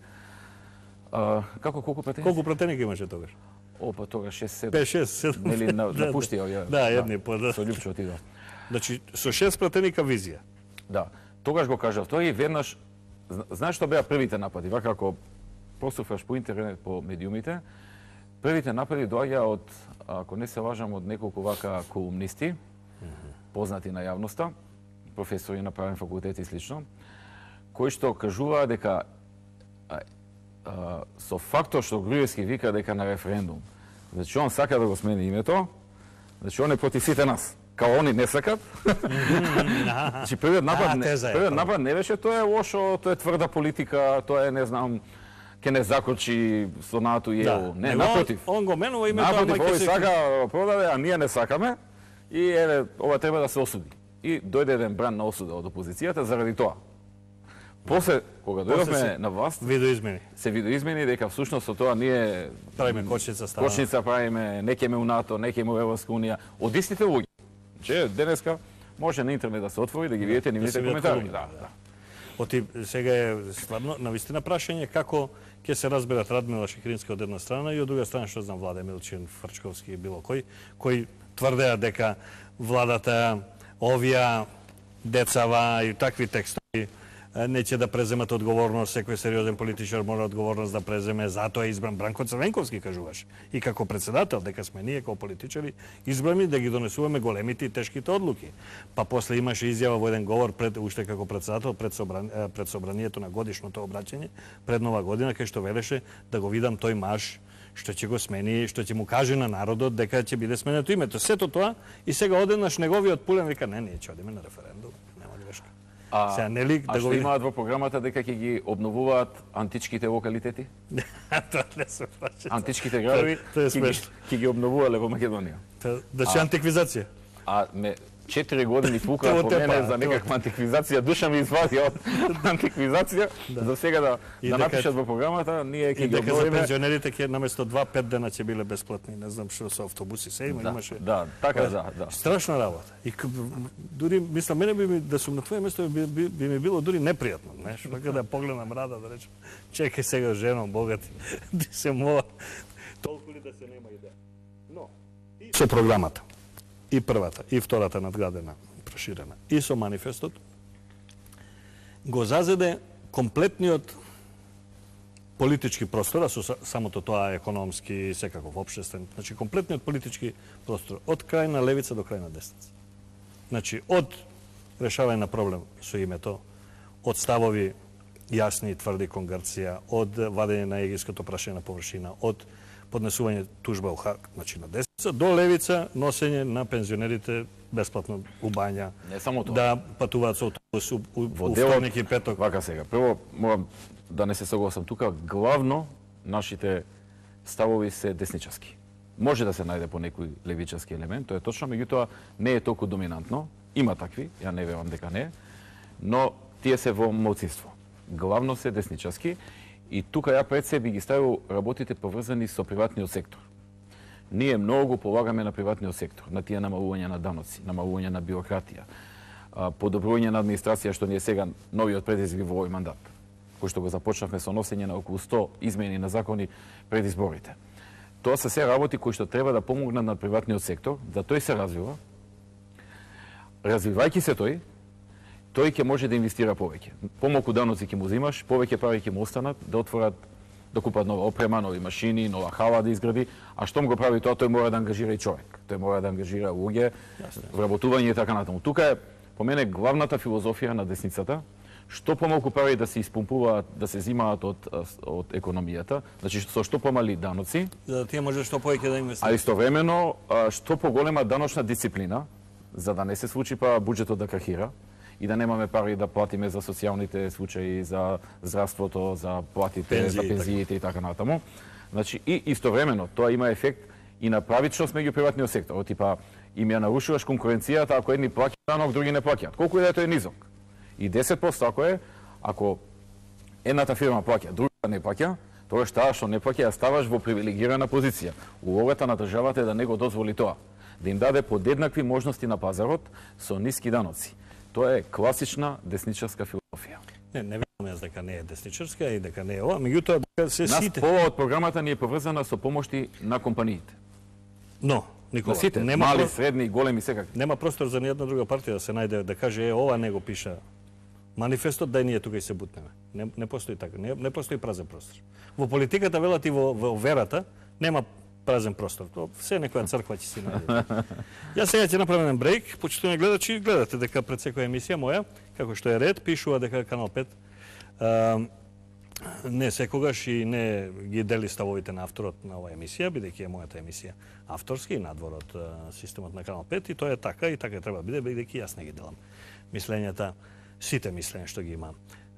А, како колку пратеници? Колку пратеника имаше тогаш? О, па тогаш шест седум. пет шест седум. Нели на, напуштија ја. Да, едни по да. Со Љупчо отидов. Значи со шест пратеника визија. Да. Тогаш го кажав тој и веднаш знаеш што беа првите напади, вака ако посуфаш по интернет, по медиумите, првите напади доаѓа од, ако не се лажам, од неколку вака колумнисти, познати на јавноста, професори на правен факултет и слично, кои што кажуваа дека а, а, со фактор што Груевски вика дека на референдум, значи он сака да го смени името, значи он е против сите нас. Као они не сакат. Значи првиот напад, првиот напад не беше тоа е лошо, тоа е тврда политика, тоа е не знам ќе не закочи со НАТО и ЕУ. Не, напротив. Он го менува името, напротив, овој сака продаде, а ние не сакаме и еве ова треба да се осуди. И дојде еден бран на осуда од опозицијата заради тоа. После кога дојдовме на власт, видоизмени. Се видоизмени дека всушност со тоа ние правиме кочница става. Кочница правиме, не ќеме у НАТО, не ќеме у Европска унија, од истите луѓе. Че денеска може на интернет да се отвори да ги видите нивните коментари. Да, да. Оти сега е стварно навистина прашање како ќе се разберат Радмила Шекеринска од една страна и од друга страна што знам Владе Милчин, Фрчковски и било кој, кои тврдеа дека владата овија децава и такви текстови неќе да преземат одговорност, секој сериозен политичар мора одговорност да преземе, затоа е избран Бранко Црвенковски, кажуваш. И како председател, дека сме ние како политичари избрани да ги донесуваме големите и тешките одлуки. Па после имаше изјава во еден говор пред уште како председател пред, собран, пред собранието на годишното обраќање пред нова година, кај што велеше да го видам тој маж што ќе го смени, што ќе му каже на народот дека ќе биде сменето името. Сето тоа и сега одеднаш неговиот Пулен вика не, ние ќе одиме на референдум. Нема грешка. А, Сега, нели, а да што го имаат во програмата дека ќе ги обновуваат античките локалитети? Тоа не се праќа. Античките градови тоа е ќе ги, ќе ги обновувале во Македонија. Значи антиквизација. А ме четири години пука по мене за некаква антиквизација, душа ми извади од антиквизација, за сега да, да напишат во програмата, ние ќе ги обновиме. И дека за пензионерите ќе наместо два пет дена ќе биле бесплатни, не знам што со автобуси се има, да, имаше. Да, така да, да. Страшна работа. И дури мислам мене би ми да сум на твое место би, би, би ми било дури непријатно, знаеш, вака да погледам Рада да речем, чекај сега женом богати, да се мова. Толку ли да се нема идеја. Но и со програмата. И првата, и втората надградена, проширена, и со манифестот, го зазеде комплетниот политички простор, а со самото тоа економски, секаков општествен, значи комплетниот политички простор, од крајна левица до крајна десница. Значи, од решавање на проблем со името, од ставови јасни и тврди кон Грција, од вадење на егиското прашање на површина, од поднесување тужба у Хаг, значи на десница, до левица носење на пензионерите бесплатно у бања. Не само тоа. Да патуваат со автобус у, у, Во у делот, вторник и петок. Вака сега. Прво, морам да не се согласам тука, главно нашите ставови се десничарски. Може да се најде по некој левичарски елемент, тоа е точно, меѓутоа не е толку доминантно. Има такви, ја не верувам дека не, но тие се во малцинство. Главно се десничарски. И тука ја пред себе ги ставил работите поврзани со приватниот сектор. Ние многу полагаме на приватниот сектор, на тие намалување на даноци, намалување на бирократија, подобрување на администрација, што ни е сега новиот предизвик во овој мандат, кој што го започнавме со носење на околу сто измени на закони пред изборите. Тоа се се работи кои што треба да помогнат на приватниот сектор, да тој се развива. Развивајќи се тој, тој ќе може да инвестира повеќе. Помалку даноци ќе му земаш, повеќе пари ќе му останат да отворат, да купат нова опрема, нови машини, нова хала да изгради, а штом го прави тоа, тој мора да ангажира и човек. Тој мора да ангажира луѓе, вработување и така натаму. Тука е по мене главната филозофија на десницата, што помалку пари да се испумпуваат, да се зимаат од од економијата, значи со што помали даноци, за да тие може што повеќе да инвестираат. А истовремено што поголема даночна дисциплина, за да не се случи па буџетот да крахира и да немаме пари да платиме за социјалните случаи, за здравството, за платите, пензии, за пензиите и така натаму. Значи и истовремено тоа има ефект и на правичност меѓу приватниот сектор, типа им ја нарушуваш конкуренцијата ако едни плаќаат данок, други не плаќаат. Колку и да е тој низок. И десет проценти ако е, ако едната фирма плаќа, другата не плаќа, тогаш таа што не плаќа ја ставаш во привилегирана позиција. Улогата на државата е да не го дозволи тоа, да им даде подеднакви можности на пазарот со ниски даноци. Тоа е класична десничарска филозофија. Не, не верувам јас дека не е десничарска и дека не е ова, меѓутоа дека се Нас сите. пола од програмата ни е поврзана со помошти на компаниите. Но, Никола, На сите, нема мали, про... средни, големи, секакви. нема простор за ниједна друга партија да се најде да каже е ова не го пиша манифестот, да ние тука и се бутнеме. Не, не постои така, не, не постои празен простор. Во политиката велат и во, во верата нема празен простор. То се некоја црква ќе си најде. Јас сега ќе направам еден брейк, почитувани гледачи, гледате дека пред секоја емисија моја, како што е ред, пишува дека Канал пет а, не секогаш и не ги дели ставовите на авторот на оваа емисија, бидејќи е мојата емисија авторски и надвор од а, системот на Канал пет, и тоа е така и така треба да биде, бидејќи јас не ги делам мислењата, сите мислења што ги има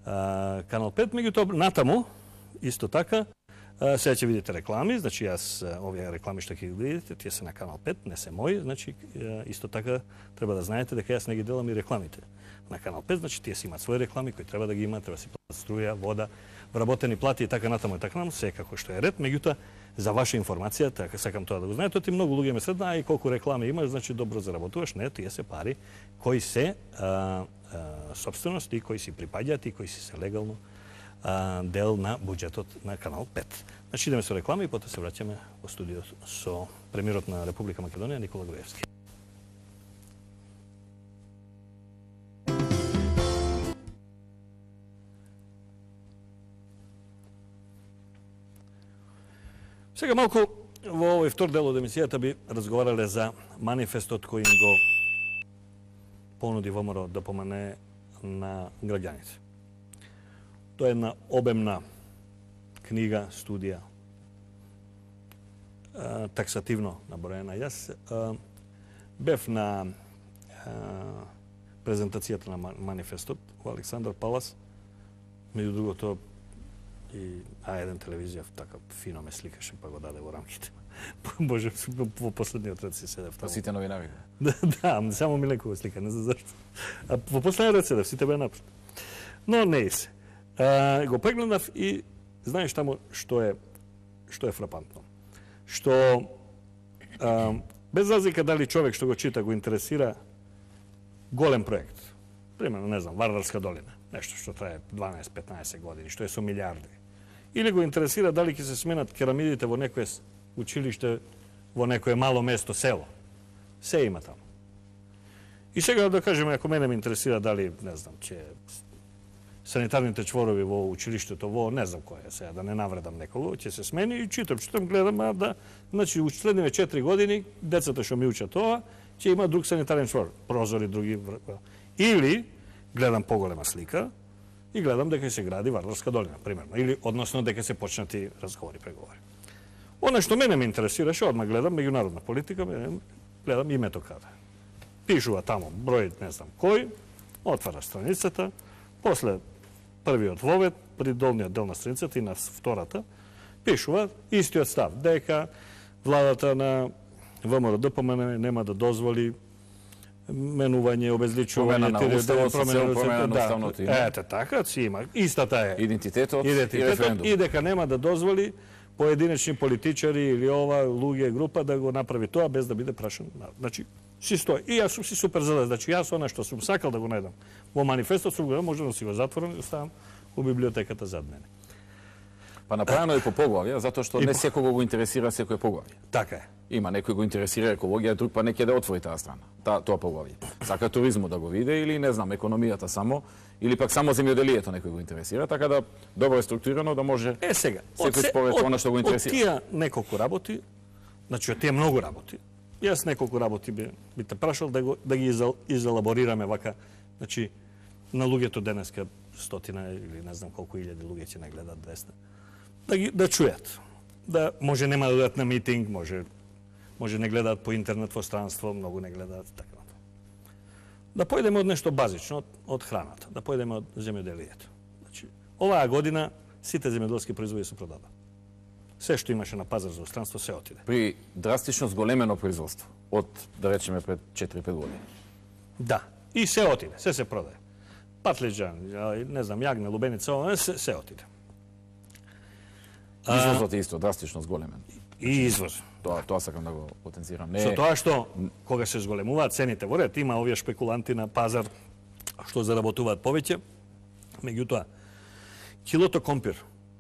а, Канал пет, меѓутоа натаму исто така а, сега ќе видите реклами, значи јас овие реклами што ќе ги видите, тие се на Канал пет, не се мои, значи а, исто така треба да знаете дека јас не ги делам и рекламите на Канал пет, значи тие си имаат своји реклами кои треба да ги имаат, треба да си платат струја, вода, вработени плати и така натаму и така натаму, секако што е ред, меѓутоа за ваша информација, така сакам тоа да го знаете, ти многу луѓе ме следна, а и колку реклами имаш, значи добро заработуваш, не, тие се пари кои се а, а, собственост и кои си припаѓаат и кои си се легално а, дел на буџетот на Канал пет. Значи идеме со реклами и потоа се враќаме во студио со премиерот на Република Македонија Никола Груевски. Сега малку во овој втор дел од емисијата би разговарале за манифестот кој им го понуди ВМРО да помане на граѓаните. Тоа е една обемна книга, студија, таксативно наброена. Јас бев на презентацијата на манифестот во Александар Палас, меѓу другото и А еден телевизија така фино ме сликаше, па го даде во рамките. Боже, во последниот ред си седев таму. Сите новинари. Да, да, само Миленко го слика, не знам зашто. А во последниот ред седев, сите беа напред. Но не и се. А, го прегледав и знаеш таму што е што е фрапантно. Што а, без разлика дали човек што го чита го интересира голем проект. Примерно, не знам, Вардарска долина, нешто што трае дванаесет-петнаесет години, што е со милиарди. Или го интересира дали ќе се сменат керамидите во некое училиште, во некое мало место, село. Се има таму. И сега да кажеме, ако мене ме интересира дали, не знам, ќе санитарните чворови во училиштето, во не знам кој е сега, да не навредам некого, ќе се смени и читам, читам, гледам, а да, значи, у следниве четири години, децата што ми учат тоа, ќе има друг санитарен чвор, прозори, други. Или, гледам поголема слика, и гледам дека се гради Вардарска долина, примерно, или односно дека се почнати разговори, преговори. Она што мене ме интересираше, одма гледам меѓународна политика, гледам името каде. Пишува таму број, не знам кој, отвара страницата, после првиот вовед, при долниот дел на страницата и на втората, пишува истиот став, дека владата на ВМРО ДПМН нема да дозволи менување, обезличување, промена на уставот, социјална промена на уставното име. Ете така, си има. Истата е Идентитетот, идентитетот и референдум. И дека нема да дозволи поединечни политичари или ова луѓе група да го направи тоа без да биде прашан. Значи, си стои. И јас сум си супер задоволен. Значи, јас она што сум сакал да го најдам во манифестот, сум го може да си го затворам и оставам у библиотеката зад мене. Па направено е по поглавје, затоа што не секого го интересира секој поглавје. Така е. Има некој го интересира екологија, друг па неќе да отвори таа страна, та, тоа поглавје. Сака туризмот да го види или не знам, економијата само, или пак само земјоделието некој го интересира, така да добро е структурирано да може Е сега, секој според она што го интересира. Од тие неколку работи, значи од тие многу работи, Јас неколку работи би, би те прашал да, го, да ги изал, изелаборираме вака. Значи, на луѓето денеска стотина или не знам колку илјади луѓе ќе не гледат двеста. Да ги да чујат. Да може нема да дадат на митинг, може може не гледаат по интернет во странство, многу не гледаат така. Да појдеме од нешто базично, од, од храната, да појдеме од земјоделието. Значи, оваа година сите земјоделски производи се продаде. Се што имаше на пазар за странство се отиде. При драстично зголемено производство од, да речеме, пред четири-пет години. Да, и се отиде, се се продаде. Патлиџан, не знам, јагне, лубеница, се, се отиде. Извозот е исто драстично зголемен. И извоз. Тоа, тоа сакам да го потенцирам. Не... Со тоа што, кога се зголемуваат цените во ред, има овие шпекуланти на пазар што заработуваат повеќе. Меѓутоа, килото компир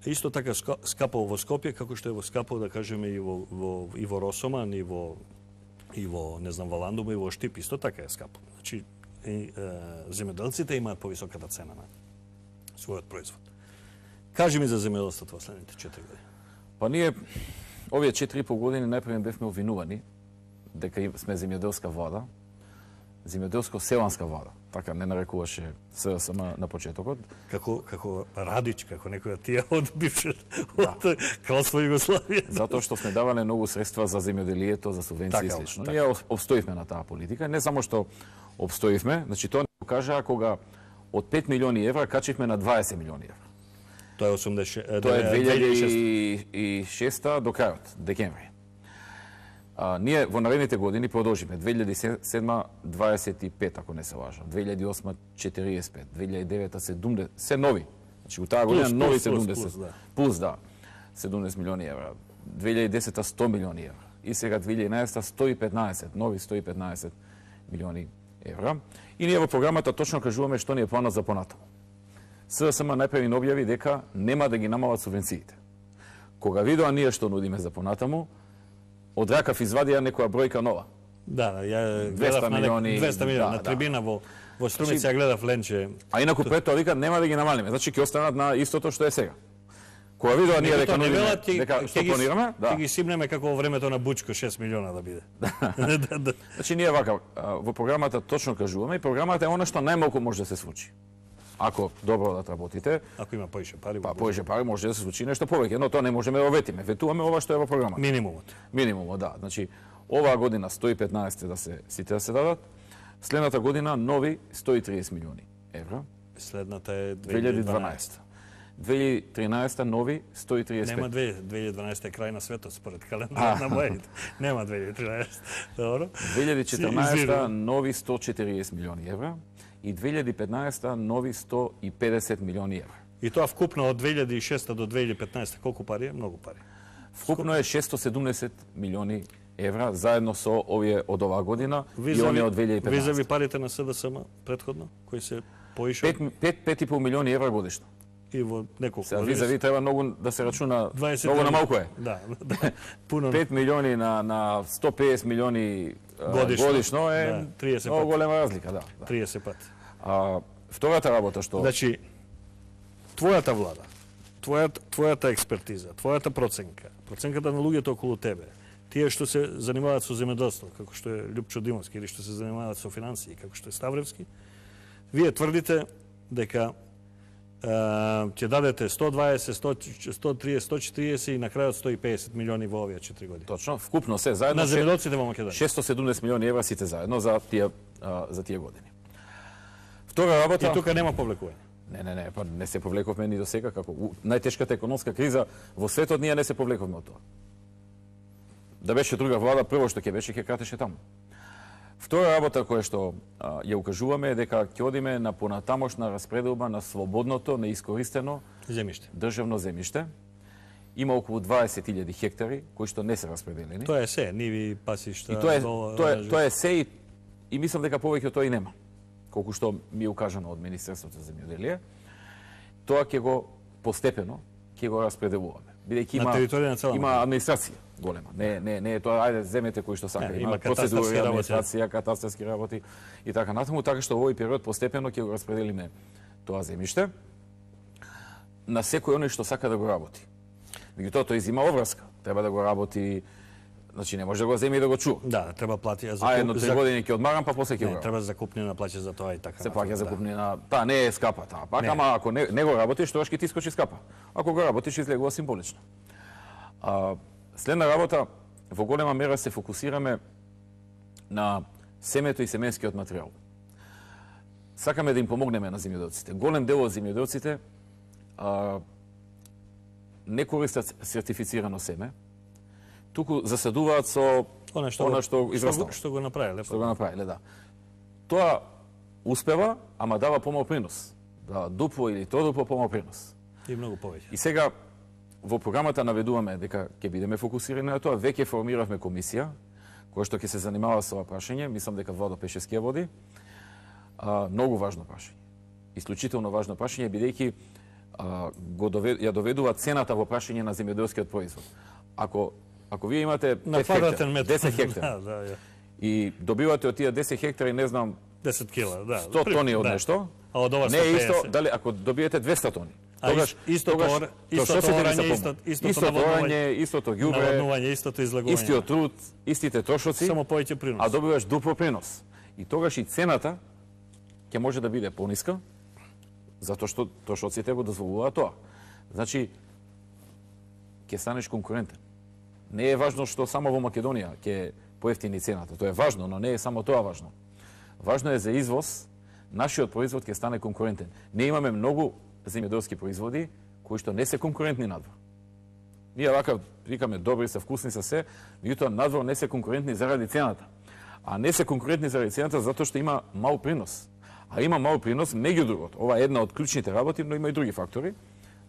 е исто така скапал во Скопје, како што е во скапал, да кажеме, и во, во, и во Росоман, и во, и во, не знам, во Ландума, и во Штип, исто така е скапал. Значи, и, е, земјоделците имаат повисоката цена на својот производ. Кажи ми за земјоделството во следните четири години. Па ние овие четири и пол години најпрво бевме обвинувани дека сме земјоделска влада, земјоделско-селанска влада. Така не нарекуваше СДСМ на почетокот. Како како Радич, како некој од тие од бивше од Кралство Југославија. Затоа што сме давале многу средства за земјоделието, за субвенции и слично. Така. Ние обстоивме на таа политика, не само што обстоивме, значи тоа не покажа кога од пет милиони евра качивме на дваесет милиони евра. Тоа е осумдесет Тоа е две илјади и шеста до крајот, декември. А, ние во наредните години продолжиме. две илјади и седма дваесет и пет, ако не се лажам. две илјади и осма четириесет и пет, две илјади и девета седумдесет, се нови. Значи, у таа година нови плюс, седумдесет. Плюс, да. Плюс, да. седумдесет милиони евра. две илјади и десета сто милиони евра. И сега две илјади и еднаесета сто и петнаесет, нови сто и петнаесет милиони евра. И ние во програмата точно кажуваме што ни е планот за понатаму. СДСМ најпрви објави дека нема да ги намалат субвенциите. Кога видоа ние што нудиме за понатаму, од ракав извадија некоја бројка нова. Да, ја гледав на милиони, двеста милиони да, на трибина да. во во Струмица, ја гледав ленче. А инаку пред тоа вика нема да ги намалиме, значи ќе останат на истото што е сега. Кога видоа ние дека нудиме, дека што планираме, да. Ќе ги симнеме како во времето на Бучко шест милиона да биде. да, да. Значи ние вака во програмата точно кажуваме и програмата е она што најмалку може да се случи. Ако добро да работите, ако има поише пари, па поише пари може да се случи нешто повеќе, но тоа не можеме да ветиме. Ветуваме ова што е во програмата. Минимумот. Минимумот, да. Значи оваа година сто и петнаесет да се сите да се дадат. Следната година нови сто и триесет милиони евра. Следната е две илјади и дванаесета. две илјади и тринаесета нови сто и триесет. Нема две илјади и дванаесета е крај на светот според календарот на моите. Нема две илјади и тринаесета. Добро. две илјади и четрнаесета нови сто и четириесет милиони евра и две илјади и петнаесета нови сто и педесет милиони евра. И тоа вкупно од две илјади и шеста до две илјади и петнаесета колку пари е? Многу пари. Вкупно е шестстотини и седумдесет милиони евра заедно со овие од оваа година и оние од две илјади и петнаесета. Визави парите на СДСМ претходно кои се поише пет пет и пол милиони евра годишно. И во неколку години. Визави треба многу да се рачуна, многу на малку е. Да, да. Пуно. пет милиони на на сто и педесет милиони годишно, годишно е да, триесет многу голема разлика, да. да. триесет пати. А втората работа што Значи твојата влада, твојата твојата експертиза, твојата проценка, проценката на луѓето околу тебе, тие што се занимаваат со земјоделство, како што е Љупчо Димовски, или што се занимаваат со финансии, како што е Ставревски, вие тврдите дека ќе дадете сто дваесет, сто триесет, сто четириесет и на крајот сто и педесет милиони во овие четири години. Точно, вкупно се заедно на земјоделците во Македонија. шестстотини и седумдесет милиони евра сите заедно за тие за тие години. Втора работа. И тука нема повлекување. Не, не, не, па не се повлековме ни до сега како најтешката економска криза во светот, ние не се повлековме од тоа. Да беше друга влада, прво што ќе беше ќе кратеше таму. Втора работа која што а, ја укажуваме е дека ќе одиме на понатамошна распределба на слободното, неискористено земјиште. Државно земјиште. Има околу дваесет илјади хектари кои што не се распределени. Тоа е се, ниви, пасишта, и тоа е, дола, тоа е, тоа е се и, и мислам дека повеќе од тоа и нема. Колку што ми е укажано од Министерството за земјоделие, тоа ќе го постепено ќе го распределуваме. Бидејќи има на има администрација голема. Не не не е тоа ајде земете кои што сака, не, има, има процедури, администрација, катастарски работи и така натаму, така што во овој период постепено ќе го распределиме тоа земјиште на секој оној што сака да го работи. Меѓутоа тоа изима обврска. Треба да го работи Значи не може да го земе и да го чува. Да, треба плати за А едно три години ќе одмарам, па после ќе Не, го. треба закупнина плаќа за тоа и така. Се плаќа да. закупнина. Таа не е скапа таа. Пак Не. ама ако не, не го работиш, тоа ќе ти скочи скапа. Ако го работиш, излегува символично. А, следна работа, во голема мера се фокусираме на семето и семенскиот материјал. Сакаме да им помогнеме на земјоделците. Голем дел од земјоделците а, не користат сертифицирано семе, туку засадуваат со Она што, она го- што израстало. Што, што го направиле. Што го направиле, да. Тоа успева, ама дава помал принос. Дава дупло или троодупло помал принос. И многу повеќе. И сега во програмата наведуваме дека ќе бидеме фокусирани на тоа. Веќе формиравме комисија која што ќе се занимава со ова прашање. Мислам дека Владо Пешевски ја води. А, многу важно прашање. Исклучително важно прашање, бидејќи а, го довед, ја доведува цената во прашање на земјоделскиот производ. Ако ако вие имате На пет квадратен хектара, метар. десет хектара Да, да, ја. и добивате од тие десет хектари, не знам, десет кила, да. сто При- тони од да. нешто, А од ова не е исто, сто пеесет. дали ако добиете двесте тони. А Тогаш, ис- истото тогаш, ор- истото трошоците ви сеорање, помнат. исто- истото Истото наводнување.орање, истото ѓубре, Наводнување, истото излагување. истиот труд, истите трошоци, Само повеќе принос. а добиваш дупло принос. И тогаш и цената ќе може да биде пониска, затоа што трошоците го дозволуваат тоа. Значи, ќе станеш конкурентен. Не е важно што само во Македонија ќе поевтини цената. Тоа е важно, но не е само тоа важно. Важно е за извоз, нашиот производ ќе стане конкурентен. Не имаме многу земјоделски производи кои што не се конкурентни надвор. Ние вака викаме добри се, вкусни се се, меѓутоа надвор не се конкурентни заради цената. А не се конкурентни заради цената затоа што има мал принос. А има мал принос меѓу другото. Ова е една од клучните работи, но има и други фактори.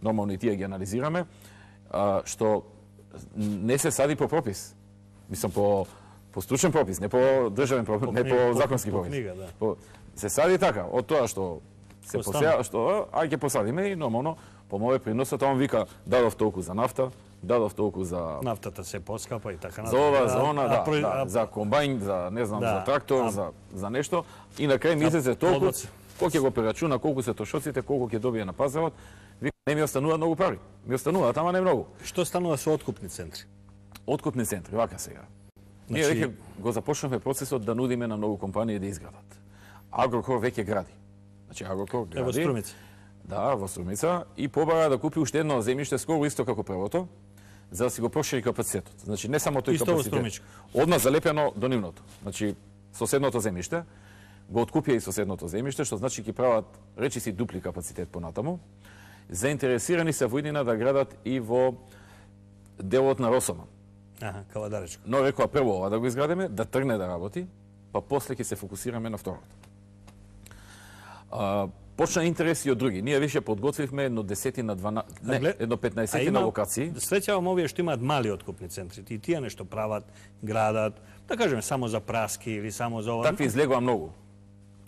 Нормално и тие ги анализираме, а, што не се сади по пропис. Мислам по по стручен пропис, не по државен пропис, По не книга, по по- законски по пропис. книга, да. По, се сади така, од тоа што се Што посеа, што а ќе посадиме и нормално по моје приносот, он вика дадов толку за нафта, дадов толку за Нафтата се поскапа и така за ова, за она, А- да, а про- да, а- за комбајн, за не знам, Да, за трактор, а- за за нешто и на крај ми излезе толку, плодоци. кој ќе го прерачуна, колку се трошоците, колку ќе добие на пазарот, вика не ми останува многу пари. Ми останува, ама не многу. Што станува со откупни центри? Откупни центри, вака сега. Ние Значи- веќе го започнавме процесот да нудиме на многу компании да изградат. Агрокор веќе гради. Значи Агрокор гради. Ево Струмица. Да, во Струмица и побара да купи уште едно земјиште скоро исто како првото, за да си го прошири капацитетот. Значи не само тој Исто во капацитет. Струмичко. Одма залепено до нивното. Значи соседното земјиште го откупија и соседното земјиште, што значи ќе прават речиси дупли капацитет понатаму. Заинтересирани се во иднина да градат и во делот на Росоман. Аха, Кавадаречко. Но рекоа прво ова да го изградиме, да тргне да работи, па после ќе се фокусираме на второто. А, почна интерес и од други. Ние више подготвивме едно десетина, дванаесет, не, глед- едно А петнаесет има- на локации. Среќавам овие што имаат мали откупни центри. И тие нешто прават, градат, да кажеме само за праски или само за ова. Такви излегува многу.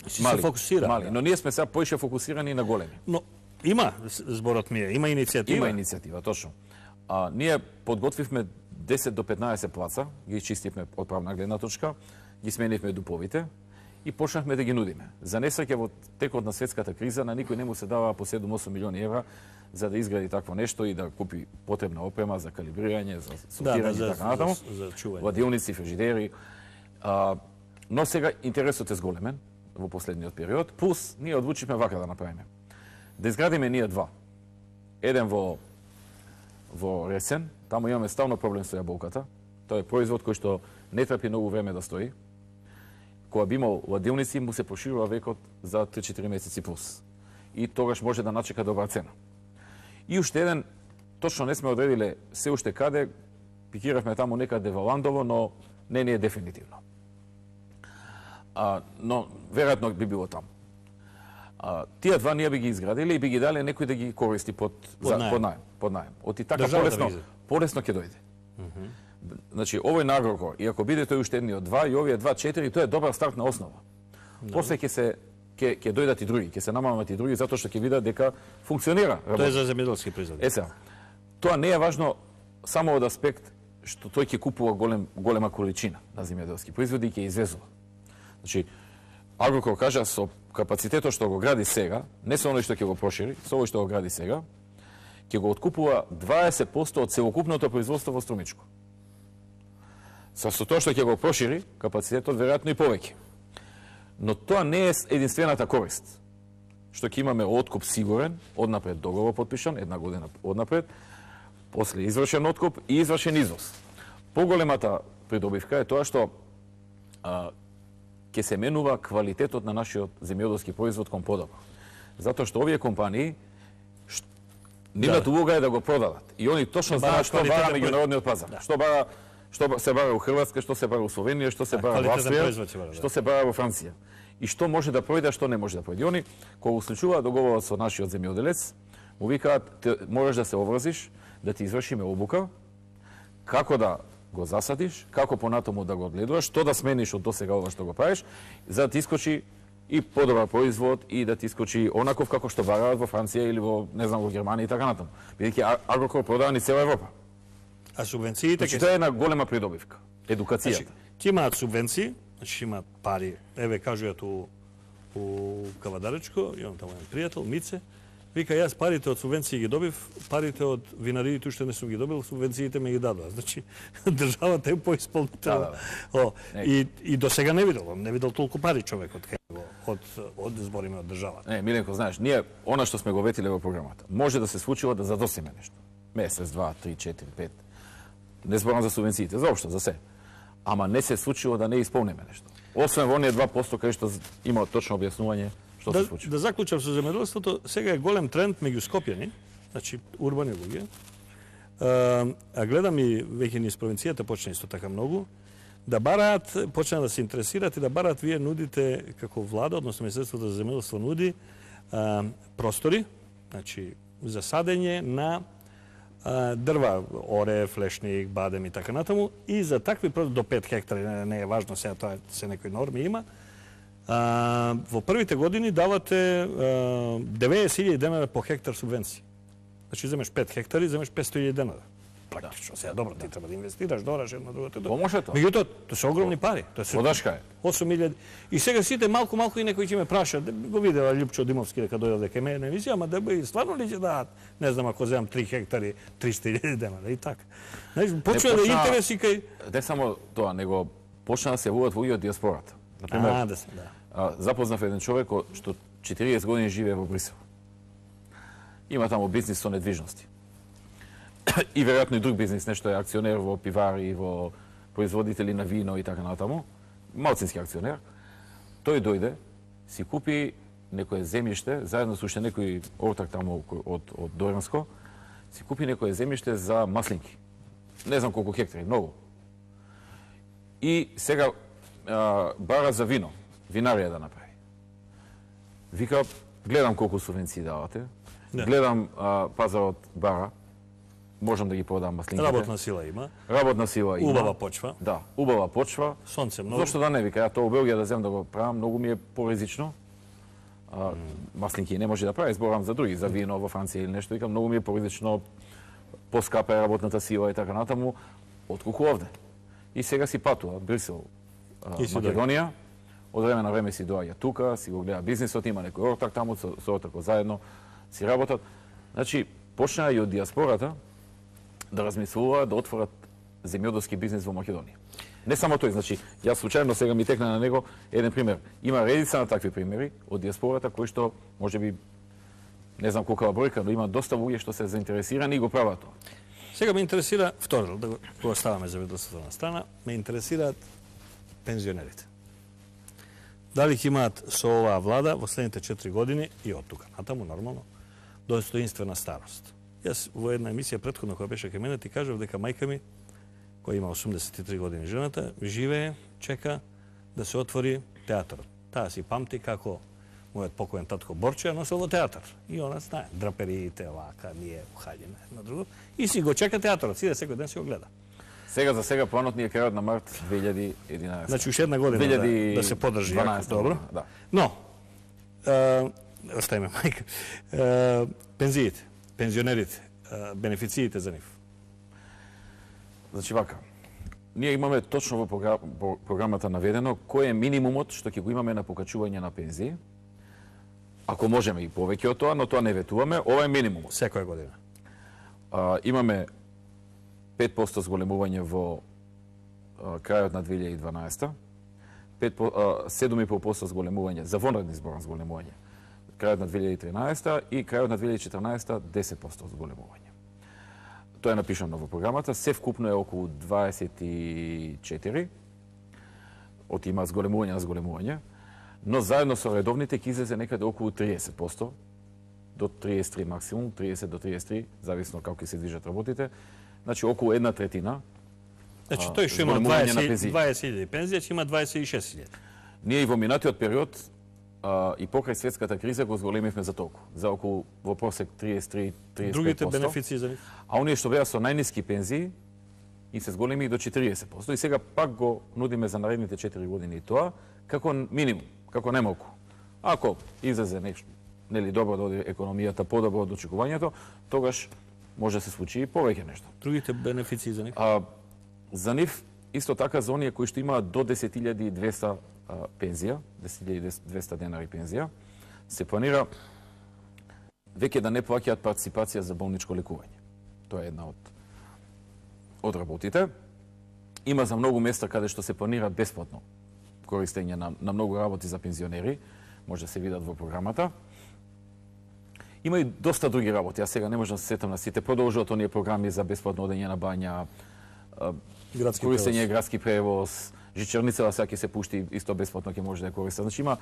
Си се фокусира. Мали, но ние сме сега поише фокусирани на големи. Но има с- зборот ми е, има иницијатива. Има иницијатива, точно. А, ние подготвивме десет до петнаесет плаца, ги чистивме од правна гледна точка, ги сменивме дуповите и почнавме да ги нудиме. За несреќа во текот на светската криза на никој не му се дава по седум-осум милиони евра за да изгради такво нешто и да купи потребна опрема за калибрирање, за да, сортирање да, и за, така натаму. за, за чување. Владилници, фрижидери. А, но сега интересот е зголемен во последниот период, плюс ние одлучивме вака да направиме. Да изградиме ние два. Еден во во Ресен, таму имаме стално проблем со јаболката. Тоа е производ кој што не трпи многу време да стои. Кога би имал ладилници, му се проширува векот за три-четири месеци плюс. И тогаш може да начека добра цена. И уште еден, точно не сме одредиле се уште каде, пикиравме таму некаде во Ландово, но не ни е дефинитивно. А, но веројатно би било таму. А, тие два ние би ги изградиле и би ги дали некој да ги користи под Под за, наем. под наем, под наем. Оти така Државата полесно, би ги- полесно ќе дојде. Значи овој на Агрокор, и ако биде тој уште едниот два и овие два четири, тоа е добра стартна основа. После ќе се ќе ќе дојдат и други, ќе се намалат и други затоа што ќе видат дека функционира. Тоа е работи. за земјоделски производи. Е сега, тоа не е важно само од аспект што тој ќе купува голем, голема количина на земјоделски производи и ќе извезува. Значи, Агрокор кажа со капацитетот што го гради сега, не со оној што ќе го прошири, со овој што го гради сега, ќе го откупува дваесет проценти од целокупното производство во Струмичко. Со тоа што ќе го прошири капацитетот веројатно и повеќе. Но тоа не е единствената корист. Што ќе имаме откуп сигурен, однапред договор подпишан, една година однапред, после извршен откуп и извршен извоз. Поголемата придобивка е тоа што а, ќе се менува квалитетот на нашиот земјоделски производ кон подобро. Затоа што овие компании нивната улога е да го продадат. И они точно знаат што бара меѓународниот пазар. Да. Што бара што се бара во Хрватска, што се бара во Словенија, што се бара во Австрија, што се бара во Франција. И што може да пројде, а што не може да пројде. Они кога услучуваат договорот со нашиот земјоделец, му викаат можеш да се обврзиш, да ти извршиме обука, како да го засадиш, како понатаму да го одгледуваш, што да смениш од досега ова што го правиш, за да ти искочи и подобар производ и да ти искочи онаков како што бараат во Франција или во не знам во Германија и така натаму. Бидејќи Агрокор продава ни цела Европа. А субвенциите Значи, тоа е една голема придобивка. Едукацијата. Ќе имаат субвенции, значи имаат пари. Еве кажуваат у у Кавадаречко, имам таму еден пријател, Мице, вика јас парите од субвенции ги добив, парите од винариите уште не сум ги добил, субвенциите ме ги дадоа. Значи државата е поисполнител. Да, да. О, и и досега не видел, не видел толку пари човекот кај од од збориме од државата. Не, Миленко, знаеш, ние она што сме го ветиле во програмата, може да се случува да задосиме нешто. Месец, два, три, четири, пет. Не зборам за субвенциите, заопшто, за се. Ама не се случува да не исполниме нешто. Освен во оние два поsto кај што има точно објаснување што да, се случи. Да заклучам со земјоделството, сега е голем тренд меѓу скопјани, значи урбани луѓе. А, а гледам и веќе низ провинцијата почна исто така многу да бараат, почна да се интересираат и да бараат, вие нудите како влада, односно Министерството за земјоделство нуди а, простори, значи за садење на а, дрва, оре, флешник, бадем и така натаму, и за такви простори до пет хектари, не, не е важно сега, тоа се некои норми има. А, во првите години давате деветдесет илјади денари по хектар субвенции. Значи земеш пет хектари, земеш петстотини илјади денари. Практично, сега добро, ти треба да инвестираш, дораш едно другото. Помоше тоа. Меѓутоа, тоа се огромни пари. Тоа се Подашка е. осум илјади. И сега сите малку малку и некој ќе ме праша, го видела Љупчо Димовски дека дојде дека ме на емисија, ама да би стварно ли ќе дадат, не знам ако земам три хектари, триста илјади денари и така. Знаеш, почна да интереси кај Не само тоа, него почна да се јавуваат луѓе од диаспората. Например, А, да се, да. а, запознав еден човек што четириесет години живее во Брисел. Има таму бизнис со недвижности. И веројатно и друг бизнис, нешто е акционер во пивари, во производители на вино и така натаму. Малцински акционер. Тој дојде, си купи некое земјиште, заедно со уште некој ортак таму од, од Доранско, си купи некое земјиште за маслинки. Не знам колку хектари, многу. И сега а, бара за вино, винарија да направи. Вика, гледам колку субвенции давате, Да. гледам а, пазарот бара, можам да ги продам маслинките. Работна сила има, Работна сила има. убава почва, Да, убава почва. сонце многу. Зошто да не вика, ја тоа во Белгија да земам да го правам, многу ми е поризично. А, маслинки не може да прави, зборам за други, за вино во Франција или нешто, викам, многу ми е поризично, поскапа е работната сила и така натаму, отколку овде. И сега си патува Брисел, а, И си Македонија, од време на време си доаѓа тука, си го гледа бизнисот, има некој ортак таму, со, со ортако заедно си работат. Значи, почнаа и од диаспората да размислуваат да отворат земјоделски бизнис во Македонија. Не само тој, значи, јас случајно сега ми текна на него еден пример. Има редица на такви примери од диаспората кои што можеби не знам колка бројка, но има доста луѓе што се заинтересирани и го прават тоа. Сега ме интересира, второ, да го, го оставаме земјоделството на страна, ме интересираат пензионерите. Дали ќе имаат со оваа влада во следните четири години и од тука натаму нормално достоинствена старост. Јас во една емисија претходно која беше кај мене ти кажав дека мајка ми, која има осумдесет и три години жената, живее, чека да се отвори театарот. Таа си памти како мојот покоен татко Борче носел во театар. И она знае драпериите, вака, ние ухаѓаме едно друго. И си го чека театарот, си да секој ден си го гледа. Сега за сега планот ни е крајот на март две илјади и единаесета. Значи уште една година да, да се подржи јако, добро. Да. Но, е, оставиме мајка, е, пензиите, пензионерите, е, бенефициите за нив. Значи вака, ние имаме точно во програм, програмата наведено кој е минимумот што ќе го имаме на покачување на пензии. Ако можеме и повеќе од тоа, но тоа не ветуваме, ова е минимумот. Секоја година. А, имаме пет поsto зголемување во крајот на две илјади и дванаесета, седум и пол проценти зголемување, за вонредни зборам зголемување, крајот на две илјади и тринаесета и крајот на две илјади и четрнаесета десет проценти зголемување. Тоа е напишано во програмата, се вкупно е околу дваесет и четири, од има зголемување на зголемување, но заедно со редовните ќе излезе некаде околу триесет проценти, до триесет и три максимум, триесет до триесет и три, зависно како ќе се движат работите. Значи, околу една третина. Значи, тој што има дваесет илјади пензија, ќе има дваесет и шест илјади. Ние и во минатиот период а, и покрај светската криза го зголемивме за толку, за околу во просек триесет и три до триесет и пет проценти. Другите бенефиции за нив? А оние што беа со најниски пензии и се зголеми до четириесет проценти. И сега пак го нудиме за наредните четири години и тоа како минимум, како немалку. Ако излезе нешто, нели добро да оди економијата, подобро од очекувањето, тогаш може да се случи и повеќе нешто. Другите бенефиции за нив? А, за нив исто така за оние кои што имаат до десет илјади и двесте а, пензија, десет илјади и двесте денари пензија, се планира веќе да не плаќаат партиципација за болничко лекување. Тоа е една од од работите. Има за многу места каде што се планира бесплатно користење на, на многу работи за пензионери, може да се видат во програмата. Има и доста други работи, а сега не можам да се сетам на сите. Продолжуваат оние програми за бесплатно одење на бања, градски користење превоз. градски превоз, жичерницава сега ќе се пушти исто бесплатно ќе може да ја користат. Значи има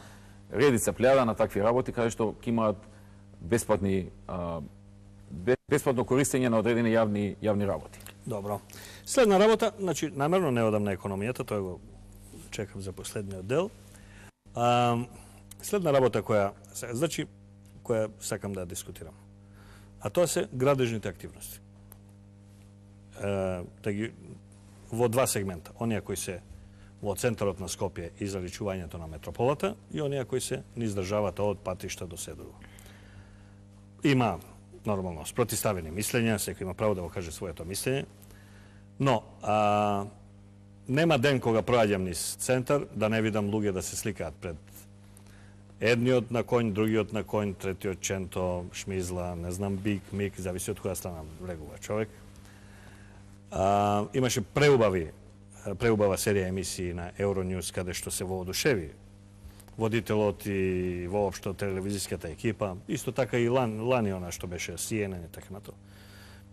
редица плејада на такви работи каде што ќе имаат бесплатни а, бесплатно користење на одредени јавни јавни работи. Добро. Следна работа, значи намерно не одам на економијата, тоа го чекам за последниот дел. А, следна работа која, значи која сакам да дискутирам. А тоа се градежните активности. Е, да ги, во два сегмента. Оние кои се во центарот на Скопје и заличувањето на метрополата и оние кои се низ државата од патишта до се друго. Има нормално спротиставени мислења, секој има право да го каже своето мислење, но а, нема ден кога проаѓам низ центар да не видам луѓе да се сликаат пред едниот на конј, другиот на конј, третиот ченто, шмизла, не знам, бик, мик, зависи од која страна влегува човек. А, имаше преубави, преубава серија емисии на Euronews каде што се воодушеви водителот и воопшто телевизиската екипа, исто така и лан, лани она што беше Си Ен Ен и така нато.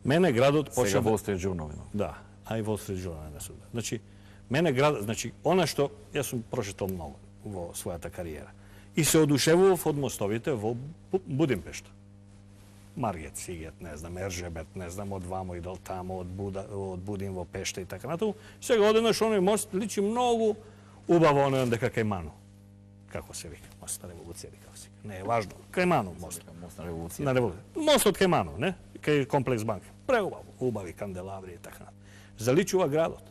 Мене градот почна Сега Wall Street Journal. Да, а и Wall Street Journal не сум. Значи, мене град, значи она што јас сум прочитал многу во својата кариера и се одушевував од мостовите во Будимпешта. Маргет, Сигет, не знам, Ержебет, не знам, од вамо и дол тамо, од, Буда, од Будим во Пешта и така натаму. Сега одеднаш оној мост личи многу убаво оној дека кај Ману. Како се вика? Мост на револуција, како се вика. Не е важно. Кај Ману мост. Мост на револуција. На револуција. Мостот кај Ману, не? Кај комплекс банка. Преубаво, убави канделабри и така натаму. Заличува градот.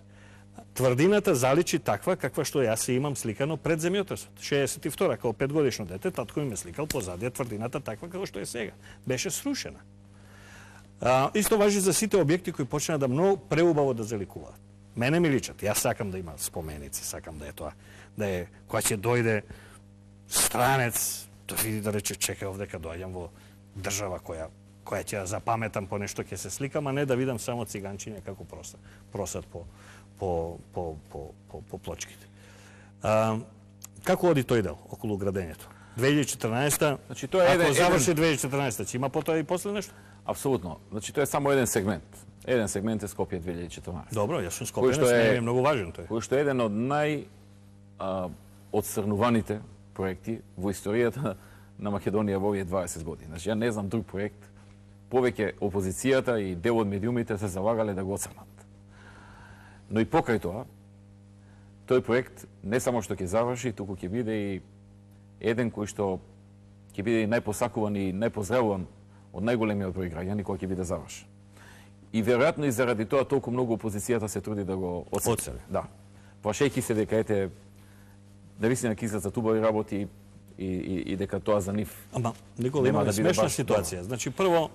Тврдината заличи таква каква што јас се имам сликано пред земјотресот. шеесет и втора, као петгодишно дете, татко ми ме сликал позадија тврдината таква како што е сега. Беше срушена. А, исто важи за сите објекти кои почнаа да многу преубаво да заликуваат. Мене ми личат. Јас сакам да има споменици, сакам да е тоа, да е кога ќе дојде странец, да види да рече чекај овдека доаѓам во држава која која ќе запаметам по нешто ќе се сликам, а не да видам само циганчиња како просат, просат по по по по по, по плочките. А, како оди тој дел околу градењето? две илјади и четрнаесета, Значи тоа е еден, ако заврши еден... две илјади и четрнаесета, ќе има потоа и после нешто? Апсолутно. Значи тоа е само еден сегмент. Еден сегмент е Скопје две илјади и четрнаесета. Добро, јас сум Скопјанец, е... не е многу важен тој. Кој што е еден од нај а, одсрнуваните проекти во историјата на Македонија во овие дваесет години. Значи ја не знам друг проект повеќе опозицијата и дел од медиумите се залагале да го оцрнат. Но и покрај тоа, тој проект не само што ќе заврши, туку ќе биде и еден кој што ќе биде и најпосакуван и најпоздравуван од најголемиот број граѓани кој ќе биде завршен. И веројатно и заради тоа толку многу опозицијата се труди да го оцрни. Да. Плашејќи се дека ете навистина ќе излезат убави работи и, и, и дека тоа за нив. Ама, Никола, има да смешна ситуација. Добро. Значи, прво,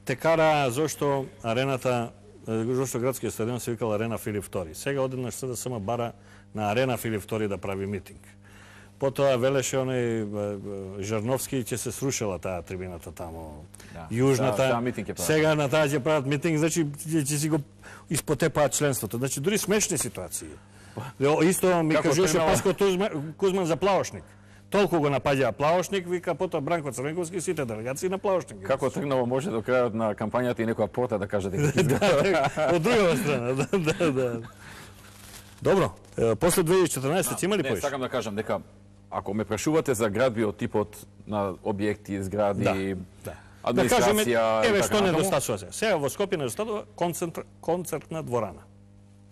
те кара зошто арената, зошто градскиот стадион се викал Арена Филип втори. Сега одеднаш С Д С М бара на Арена Филип втори да прави митинг. Потоа велеше оној Жарновски ќе се срушила таа трибината тамо, да, јужната. Да, да, сега на таа ќе прават митинг, значи ќе си го испотепаат членството. Значи дури смешни ситуации. Исто ми Како кажеше тргнало? Паско Тузма- Кузман за Плавошник. Толку го напаѓа Плавошник, вика потоа Бранко Црвенковски сите делегации на Плавошник. Како тргнало може до крајот на кампањата и некоја порта да каже дека изгледа. Од другава страна, да, да, да. Добро, е, после две илјади и четрнаесета ќе има ли Не, поиш? сакам да кажам дека ако ме прашувате за градби од типот на објекти, згради, Да. администрација, еве и што така натаму, недостатува сега. Сега во Скопје недостатува концентр, концертна дворана.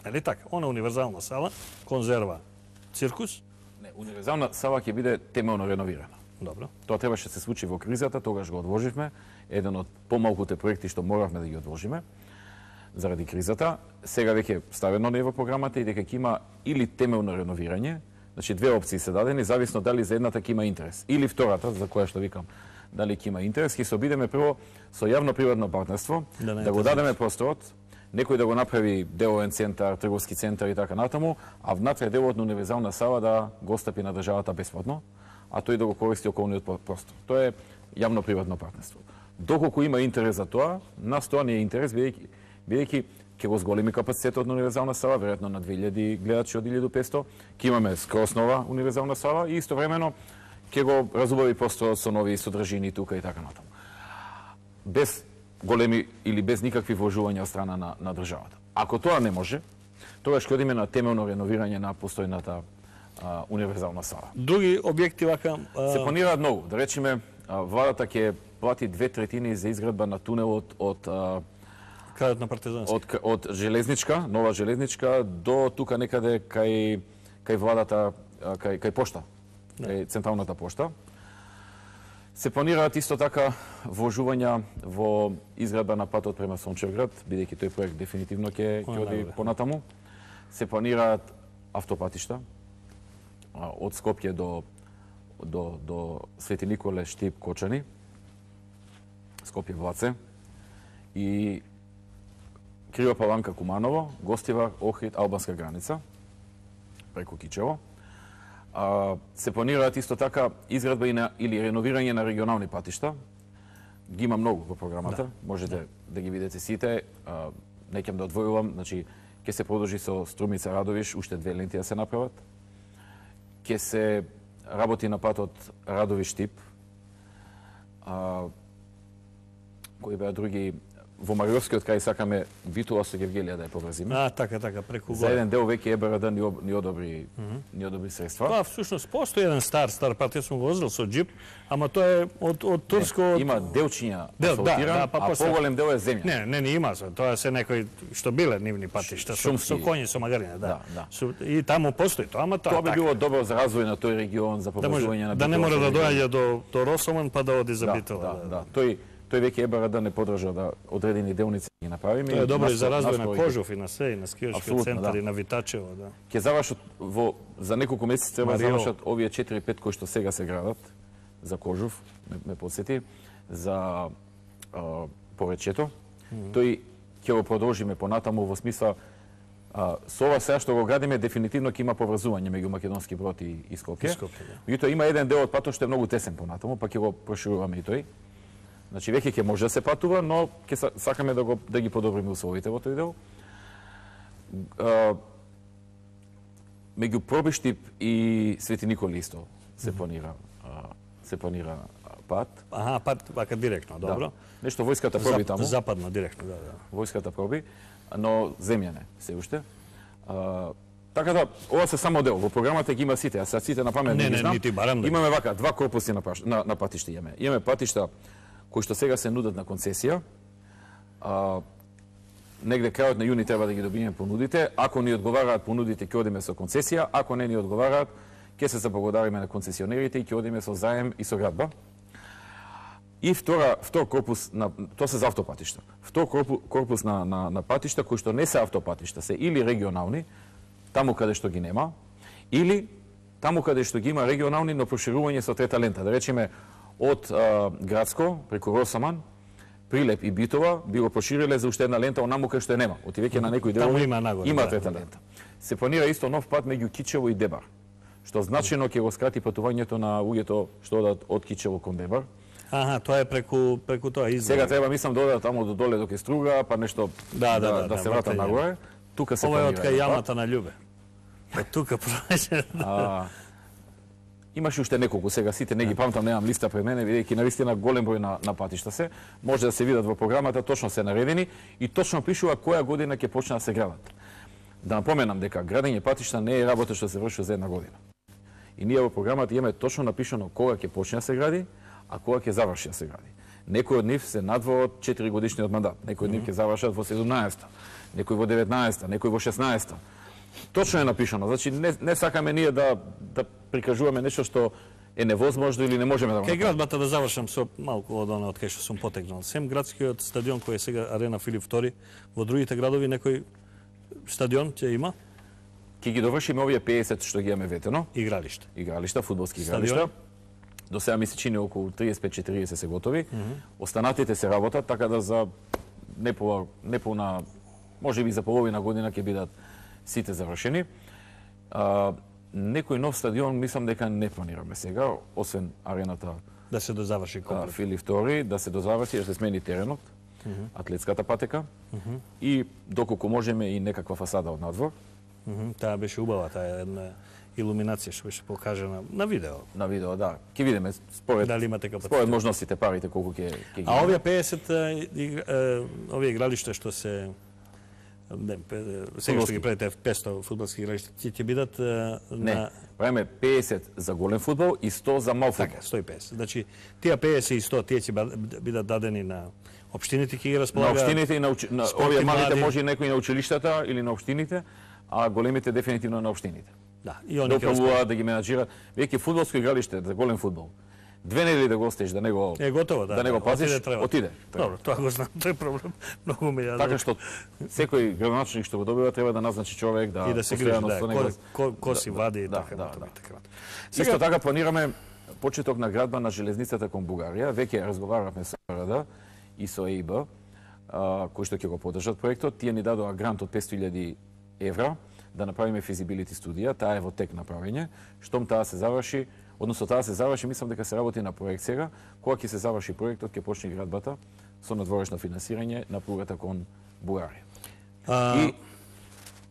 Нели така? Она универзална сала, конзерва, циркус. не, универзална сала ќе биде темелно реновирана. Добро. Тоа требаше да се случи во кризата, тогаш го одложивме. Еден од помалкуте проекти што моравме да ги одложиме заради кризата. Сега веќе ставено не е во програмата и дека ќе има или темелно реновирање, значи две опции се дадени, зависно дали за едната ќе има интерес. Или втората, за која што викам, дали ќе има интерес, ќе се обидеме прво со јавно-приватно партнерство, Да не да го е дадеме просторот, некој да го направи деловен центар, трговски центар и така натаму, а внатре делот на универзална сала да го остапи на државата бесплатно, а тој да го користи околниот простор. Тоа е јавно-приватно партнерство. Доколку има интерес за тоа, нас тоа не е интерес, бидејќи бидејќи ќе го зголеми капацитетот на универзална сала, веројатно на две илјади гледачи од илјаду и петсто, ќе имаме скрос нова универзална сала и истовремено ќе го разубави просторот со нови содржини тука и така натаму. Без големи или без никакви вложувања од страна на, на државата. Ако тоа не може, тогаш ќе одиме на темелно реновирање на постојната а, универзална сала. Други објекти вака а, Се планираат многу. Да речеме, а, владата ќе плати две третини за изградба на тунелот од а, крајот на партизански. од од железничка, нова железничка до тука некаде кај кај владата, а, кај кај пошта, кај централната пошта. Се планираат исто така вложувања во изградба на патот према Сончевград, бидејќи тој проект дефинитивно ќе ќе оди понатаму. Се планираат автопатишта а, од Скопје до до до Свети Николе, Штип, Кочани, Скопје, Влаце и Крива Паланка, Куманово, Гостивар, Охрид, албанска граница преку Кичево. А, се планираат исто така изградба и на, или реновирање на регионални патишта. Ги има многу во програмата, да. Можете да. да ги видите сите. А, не ќе да одвојувам, значи ќе се продолжи со Струмица Радовиш, уште две ленти да се направат. Ќе се работи на патот Радовиш-Штип. А, кои беа други во Мариовскиот крај сакаме Битола со Гевгелија да ја поврзиме. А, така, така, преку За горе. еден дел веќе ЕБРД ни, об, ни одобри, mm -hmm. ни одобри средства. Тоа всушност постои еден стар, стар пат, јас сум го возил со джип, ама тоа е од, од турско... Не, од... има делчиња Дел, асфалтиран, да, да, па а после- поголем дел е земја. Не, не, не има се. Тоа се некои што биле нивни патишта, со, Шумски. со коњи, со магариња, да. Да, да. Со, и таму постои тоа, ама тоа Тоа би така. било добро за развој на тој регион, за Да, може, поврзување на да не Битола мора со да регион. доаѓа до, до Росоман па да оди за Да, Битола. да, да. Тој тој веќе ЕБРД не подржа да одредени делници ги направиме. Тоа е добро и за Наскоро- развој на наскоро Кожов и на се, и на скијачкиот Апсолутно, центар да. и на Витачево, да. Ќе завршат во за неколку месеци треба да Марио. завршат овие четири-пет кои што сега се градат за Кожов, ме, ме подсети, за а, Поречето. Mm -hmm. Тој ќе го продолжиме понатаму во смисла а, со ова сега што го градиме дефинитивно ќе има поврзување меѓу Македонски Брод и, и Скопје. И Скопје, да. Меѓутоа има еден дел од патот што е многу тесен понатаму, па ќе го прошируваме и тој. Значи веќе ќе може да се патува, но ќе са- сакаме да го да ги подобриме условите во тој дел. А, меѓу Пробиштип и Свети Николи исто се планира а, се планира а, пат. Аха, пат вака директно, добро. Да. Нешто војската проби Зап- таму. Западно, директно, да, да. Војската проби, но земја не се уште. А, така да, ова се само дел. Во програмата ги има сите, а сад сите на памет Не, не, ги не, знам. нити барам да ги Имаме вака два корпуси на, паш, на, на патишта имаме. Имаме патишта кои што сега се нудат на концесија. А, негде крајот на јуни треба да ги добиеме понудите. Ако ни одговараат понудите, ќе одиме со концесија. Ако не ни одговараат, ќе се заблагодариме на концесионерите и ќе одиме со заем и со градба. И втора, втор корпус, на, тоа се за автопатишта. Втор корпус, корпус на, на, на патишта кои што не се автопатишта, се или регионални, таму каде што ги нема, или таму каде што ги има регионални, но проширување со трета лента. Да речеме, од а, Градско, преку Росаман, Прилеп и Битова, би го прошириле за уште една лента онаму кај што е нема. Оти веќе на некои Таму делови има нагоре, има да, трета да. лента. Се планира исто нов пат меѓу Кичево и Дебар, што значајно ќе го скрати патувањето на луѓето што одат од Кичево кон Дебар. Аха, тоа е преку преку тоа излог. Сега треба мислам да одат таму до доле до Струга, па нешто Да, да, да, да да, се врата вратање. нагоре. Тука се Ова е од планира кај еден пат. јамата на Љубе. Од тука проаѓа. А, имаше уште неколку, сега сите не ги памтам, немам листа пред мене, бидејќи навистина голем број на, на патишта се, може да се видат во програмата, точно се наредени и точно пишува која година ќе почне да се градат. Да напоменам дека градење патишта не е работа што се врши за една година. И ние во програмата имаме точно напишано кога ќе почне да се гради, а кога ќе заврши да се гради. Некои од нив се надвор од четири годишниот мандат, некои од нив ќе завршат во седумнаесета, некои во деветнаесета, некои во шеснаесета. Точно е напишано, значи не, не сакаме ние да, да прикажуваме нешто што е невозможно или не можеме да го Кај направиме. градбата да завршам со малку од она од кај што сум потекнал. Сем градскиот стадион кој е сега Арена Филип втори, во другите градови некој стадион ќе има Ќе ги довршиме овие пеесет што ги имаме ветено, игралиште. игралишта, фудбалски Стадион? игралишта. До сега ми се чини околу триесет и пет четириесет се готови. Mm -hmm. Останатите се работат, така да за неполна, неполна можеби за половина година ќе бидат сите завршени. А, некој нов стадион мислам дека не планираме сега, освен арената Да се дозаврши а, комплет. Филип втори, да се дозаврши, да се смени теренот, mm -hmm. атлетската патека mm -hmm. и доколку можеме и некаква фасада од надвор. Mm -hmm. Таа беше убава, таа е една илуминација што беше покажана на видео. На видео, да. Ќе видиме според Дали имате капацитет? според можностите, парите колку ќе ќе ги. А овие пеесет е, игра- е, овие игралишта што се не, пе- сега што ги правите петстотини фудбалски игралишта, ќе ќе бидат е, Не, на правиме пеесет за голем фудбал и сто за мал фудбал. така сто и песет. Значи тие пеесет и сто тие ќе ба- бидат дадени на општините, ќе ги На располага. општините и на, уч... на спорт овие и малите млади. може и некои на училиштата или на општините, а големите дефинитивно на општините. Да, и они Да ќе располагаат. управуваат, да ги менаџираат. Веќе фудбалско игралиште за голем фудбал. Две недели да го остеш, да не го Е готово, да. да не го пазиш, отиде, треба. отиде. Треба. Добро, тоа го знам, тој е проблем. Многу ме ја. Така што секој градоначелник што го добива треба да назначи човек да и да се грижи, постојано да, со него. ко, ко, ко си Да, вади и да, така да, натаму да. и така натаму. Исто така планираме почеток на градба на железницата кон Бугарија. Веќе разговаравме со Р Д и со Е И Б, а, кои што ќе го поддржат проектот. Тие ни дадоа грант од петсто илјади евра да направиме физибилити студија. Таа е во тек направење. Штом таа се заврши, односно таа се заврши, мислам дека се работи на проект сега. Кога ќе се заврши проектот, ќе почне градбата со надворешно финансирање на пругата кон Бугарија. А, И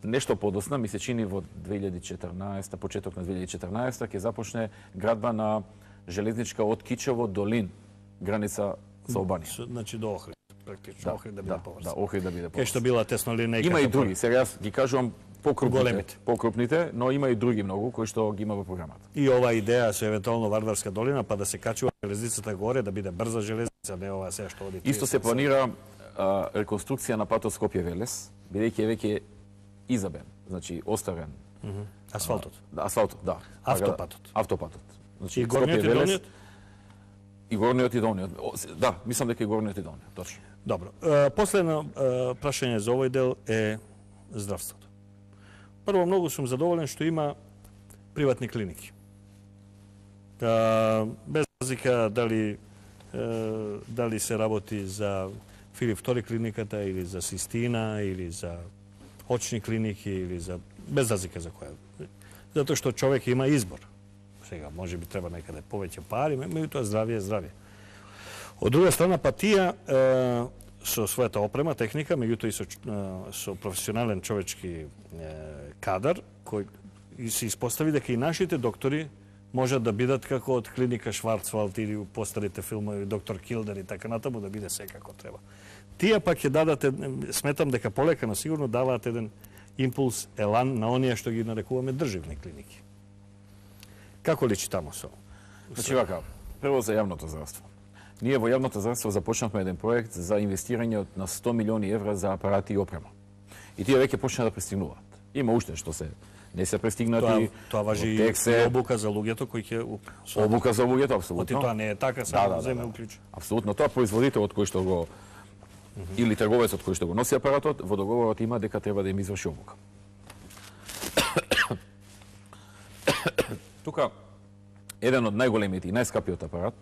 нешто подосна, ми се чини во две илјади и четрнаесета, почеток на две илјади и четрнаесета, ќе започне градба на железничка од Кичево до Лин, граница со Албанија. со- значи до Охрид, практично Охрид да биде да, поврзан. да, Охрид да биде Кај што поврзан. била тесно линејка. Има и други, сега јас ги кажувам покрупните, Големите. покрупните, но има и други многу кои што ги има во програмата. И ова идеја со евентуално Вардарска долина, па да се качува железницата горе, да биде брза железница, не ова се што оди. Исто се триесет планира а, реконструкција на патот Скопје-Велес, бидејќи е веќе изабен, значи остарен. Мгм. Асфалтот. Да, асфалтот, да. Автопатот. Така да, автопатот. Значи, И горниот и Скопје-Велес, долниот? И горниот и долниот. О, се- Да, мислам дека и горниот и долниот, точно. Добро. Е, Последно е, прашање за овој дел е здравството. Прво, многу сум задоволен што има приватни клиники. Е, Без разлика дали е, дали се работи за Филип втори клиниката или за Систина или за очни клиники или за без разлика за која. Затоа што човек има избор. Сега може би треба некаде повеќе пари, меѓутоа здравје е здравје. Од друга страна, па тие е, со својата опрема, техника, меѓутоа и со, е, со професионален човечки е, кадар, кој и се испостави дека и нашите доктори можат да бидат како од клиника Шварцвалд или у постарите филмови доктор Килдер и така натаму, да биде се како треба. Тие пак ќе дадат, ед- сметам дека полека, но сигурно даваат еден импулс, елан на оние што ги нарекуваме државни клиники. Како личи тамо со? Значи вака, прво за јавното здравство. Ние во јавното здравство започнавме еден проект за инвестирање од на сто милиони евра за апарати и опрема. И тие веќе почна да пристигнуваат. Има уште што се не се Тоа, пристигнати. тоа важи во и тек се, обука за луѓето кои ќе у- со- обука за луѓето, Оти апсолутно. тоа не е така, Да, само да, да, земе да. уклучи. Апсолутно, тоа производителот кој што го или трговецот кој што го носи апаратот, во договорот има дека треба да им изврши обука. Тука еден од најголемите и најскапиот апарат,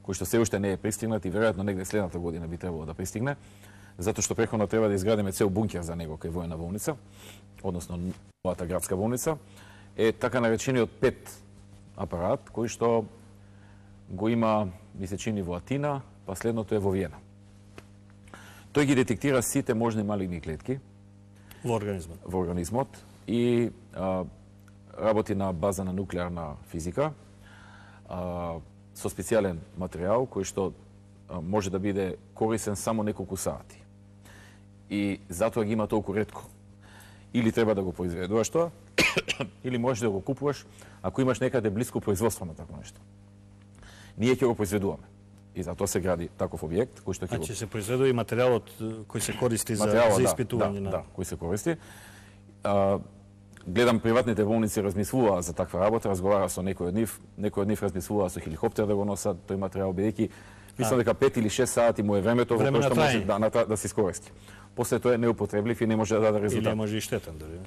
кој што се уште не е пристигнат и веројатно негде следната година би требало да пристигне, затоа што преходно треба да изградиме цел бункер за него кај војна болница, односно новата градска болница, е така наречениот пет апарат кој што го има, ми се чини, во Атина, па следното е во Виена. Тој ги детектира сите можни малигни клетки Во организмот. во организмот и а, работи на база на нуклеарна физика, а, со специјален материјал кој што а, може да биде корисен само неколку сати. И затоа ги има толку ретко. Или треба да го произведуваш тоа, или можеш да го купуваш ако имаш некаде блиско производство на такво нешто. Ние ќе го произведуваме. И затоа се гради таков објект кој што ќе Значи се произведува и материјалот кој се користи за, материјалот, за да, испитување да, на... Да, кој се користи. А, гледам приватните болници размислуваа за таква работа, разговара со некој од нив, некој од нив размислуваа со хеликоптер да го носат тој материјал, бидејќи мислам дека пет или шест сати му е времето во Време кое на што може трајање. да, на, да се искористи. После тоа е неупотребливи и не може да даде резултат. Или може и штетен дори.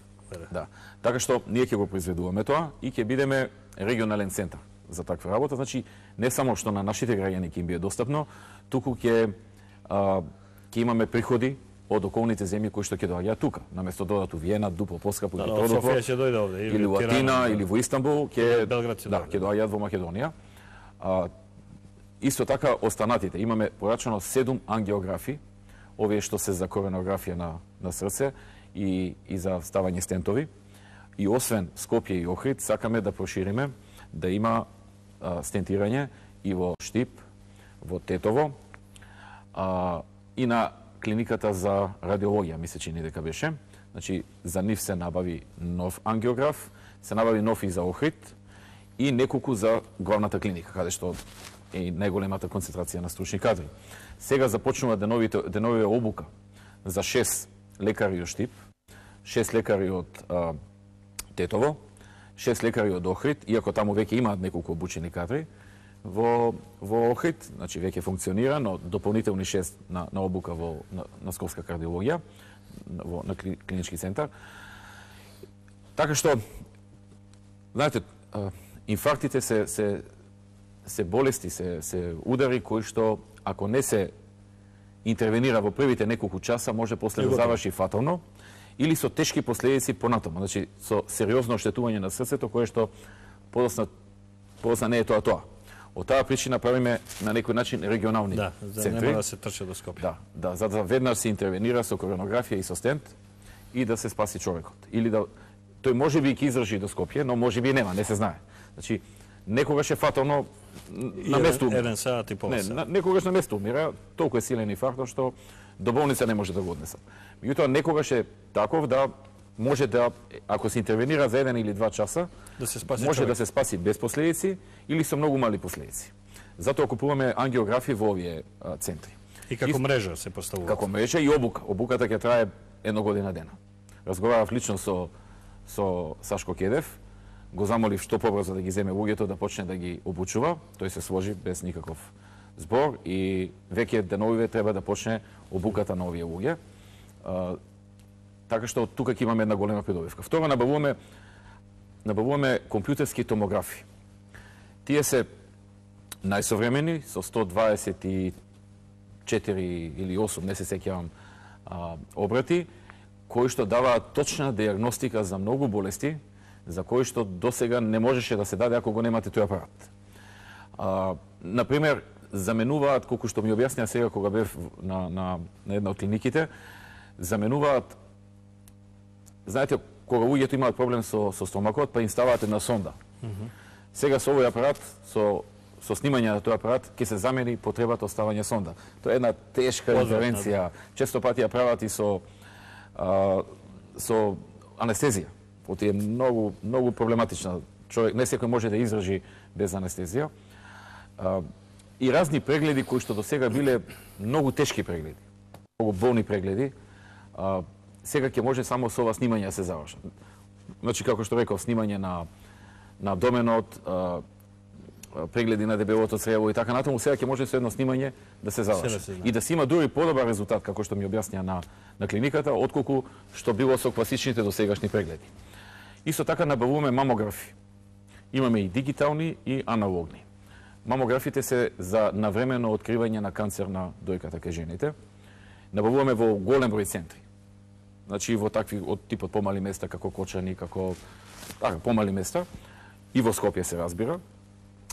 Да. Така што ние ќе го произведуваме тоа и ќе бидеме регионален центар за таква работа. Значи не само што на нашите граѓани ќе им биде достапно, туку ќе а, ќе имаме приходи од околните земји кои што ќе доаѓаат тука, наместо да одат у Виена, дупло поскапо или Да, од тродупlo, Софија ќе дојде овде или во Атина, или во Истанбул, ќе Белград ќе да, дојде. ќе доаѓаат во Македонија. А, исто така останатите имаме порачано седум ангиографи, овие што се за коронографија на на срце и и за ставање стентови. И освен Скопје и Охрид, сакаме да прошириме да има а, стентирање и во Штип, во Тетово, а, и на клиниката за радиологија, мисля че ни дека беше. Значи, за нив се набави нов ангиограф, се набави нов и за Охрид и неколку за главната клиника, каде што е најголемата концентрација на стручни кадри. Сега започнува деновите, деновите обука за шест лекари од Штип, шест лекари од а, Тетово, шест лекари од Охрид, иако таму веќе имаат неколку обучени кадри, во, во Охрид, значи веќе функционира, но дополнителни шест на, на обука во на, на скопска кардиологија, во, на кли, клинички центар. Така што, знаете, а, инфарктите се, се, се болести, се, се удари кои што, ако не се интервенира во првите неколку часа, може после да заврши фатално, или со тешки последици понатаму, значи со сериозно оштетување на срцето, кое што подосна, подосна не е тоа тоа. Од таа причина правиме на некој начин регионални Да, за центри. нема да се трча до Скопје. Да, да, за да веднаш се интервенира со коронографија и со стент и да се спаси човекот. Или да тој може би ќе издржи до Скопје, но може би нема, не се знае. Значи некогаш е фатално на место. Еден саат и пол Не, саат. на, некогаш на место умира, толку е силен инфаркт што до болница не може да го однесат. Меѓутоа некогаш е таков да може да, ако се интервенира за еден или два часа, Да се спаси може човек. да се спаси без последици или со многу мали последици. Затоа купуваме ангиографи во овие а, центри. И како мрежа се поставува. Како мрежа и обука. Обуката ќе трае една година дена. Разговарав лично со со Сашко Кедев, го замолив што побрзо да ги земе луѓето да почне да ги обучува. Тој се сложи без никаков збор и веќе деновиве треба да почне обуката на овие луѓе. А, така што тука ќе имаме една голема придобивка. Второ, набавуваме набавуваме компјутерски томографи. Тие се најсовремени со сто дваесет и четири или осум, не се сеќавам, а, обрати, кои што даваат точна диагностика за многу болести, за кои што досега не можеше да се даде ако го немате тој апарат. А, например, заменуваат, колку што ми објаснија сега кога бев на, на, на една од клиниките, заменуваат, знаете, кога луѓето имаат проблем со, со стомакот, па им ставаат една сонда. Mm -hmm. Сега со овој апарат, со, со снимање на тој апарат, ќе се замени потребата од ставање сонда. Тоа е една тешка интервенција. Често пати ја прават и со, а, со анестезија. Оти е многу, многу проблематична. Човек не секој може да издржи без анестезија. А, и разни прегледи кои што до сега биле многу тешки прегледи, многу болни прегледи, а, сега ќе може само со ова снимање да се завршат. Значи, како што реков, снимање на, на абдоменот, а, прегледи на дебелото црево и така натаму, сега ќе може со едно снимање да се завршат. И да се има дури подобар резултат, како што ми објаснија на, на клиниката, отколку што било со класичните досегашни прегледи. Исто така набавуваме мамографи. Имаме и дигитални и аналогни. Мамографите се за навремено откривање на канцер на дојката кај жените. Набавуваме во голем број центри. Значи во такви од типот помали места како Кочани, како така помали места и во Скопје се разбира.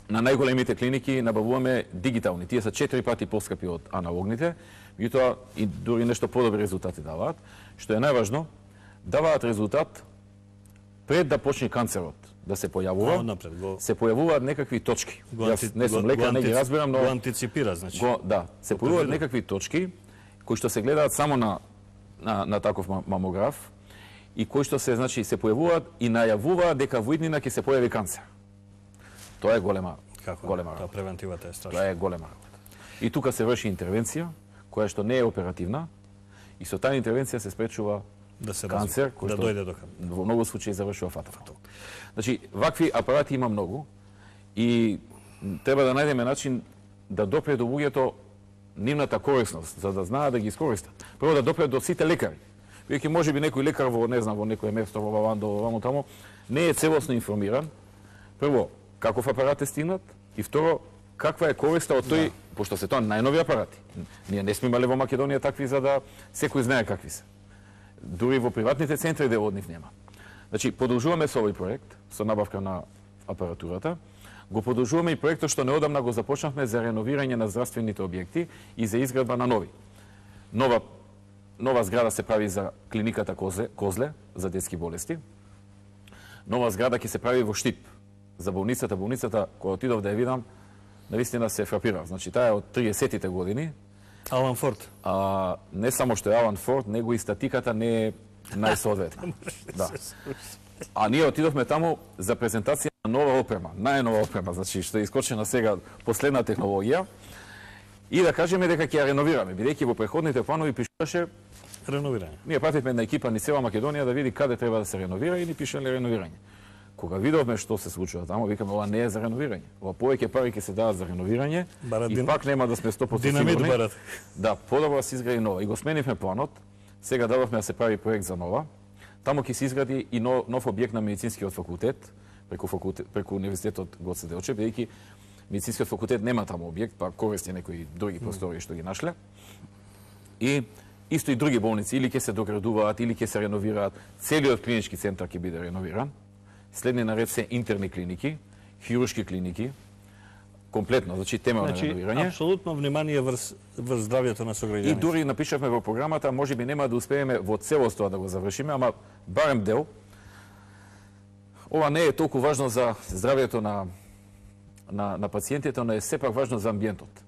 На најголемите клиники набавуваме дигитални. Тие се четири пати поскапи од аналогните, меѓутоа и дури нешто подобри резултати даваат. Што е најважно, даваат резултат пред да почне канцерот. да се појавува. А, напред, го... Се појавуваат некакви точки. Го анти... Јас не сум лекар, не ги разбирам, но го антиципира, значи. Го, да, се појавуваат некакви точки кои што се гледаат само на на, на таков мамограф и кои што се значи се појавуваат и најавуваат дека во иднина ќе се појави канцер. Тоа е голема Како? голема Тоа работа. превентивата е страшна. Тоа е голема работа. И тука се врши интервенција која што не е оперативна и со таа интервенција се спречува да се канцер развие, кој да што дојде до канцер. Во многу случаи завршува фатално. Значи, вакви апарати има многу и треба да најдеме начин да допре до луѓето нивната корисност, за да знаат да ги искористат. Прво да допре до сите лекари. Веќе можеби некој лекар во, не знам, во некој место во Вавандо, вамо тамо, не е целосно информиран. Прво, каков апарат е стигнат и второ, каква е користа од тој, да. Пошто се тоа најнови апарати. Ние не сме имале во Македонија такви за да секој знае какви се. Дури во приватните центри дел од нив нема. Значи, продолжуваме со овој проект, со набавка на апаратурата. Го продолжуваме и проектот што неодамна го започнавме за реновирање на здравствените објекти и за изградба на нови. Нова, нова зграда се прави за клиниката Козле, Козле за детски болести. Нова зграда ќе се прави во Штип за болницата. Болницата, која отидов да ја видам, навистина се фрапирав. Значи, таа е од триесеттите години. Алан Форд. А, не само што е Алан Форд, него и статиката не е најсоодветна. Да. А ние отидовме таму за презентација на нова опрема, најнова опрема, значи што е искочена сега последна технологија, и да кажеме дека ќе ја реновираме, бидејќи во преходните планови пишуваше реновирање. Ние пративме една екипа ни цела Македонија да види каде треба да се реновира и ни пишале реновирање. Кога видовме што се случува таму, викаме ова не е за реновирање. Ова повеќе пари ќе се дадат за реновирање Барат и дин... пак нема да сме сто проценти Динамит сигурни. барат. Да, подобро да се изгради нова. И го сменивме планот. Сега дадовме да се прави проект за нова. Таму ќе се изгради и нов, нов објект на медицинскиот факултет, преку факултет, преку универзитетот Гоце Делчев, бидејќи медицинскиот факултет нема таму објект, па користи некои други простори што ги нашле. И исто и други болници или ќе се доградуваат, или ќе се реновираат. Целиот клинички центар ќе биде реновиран. Следни наред се интерни клиники, хируршки клиники, комплетно, значи тема значи, на реновирање. Апсолутно внимание врз, врз здравјето на сограѓаните. И дури напишавме во програмата, можеби нема да успееме во целост тоа да го завршиме, ама барем дел. Ова не е толку важно за здравјето на на на пациентите, но е сепак важно за амбиентот.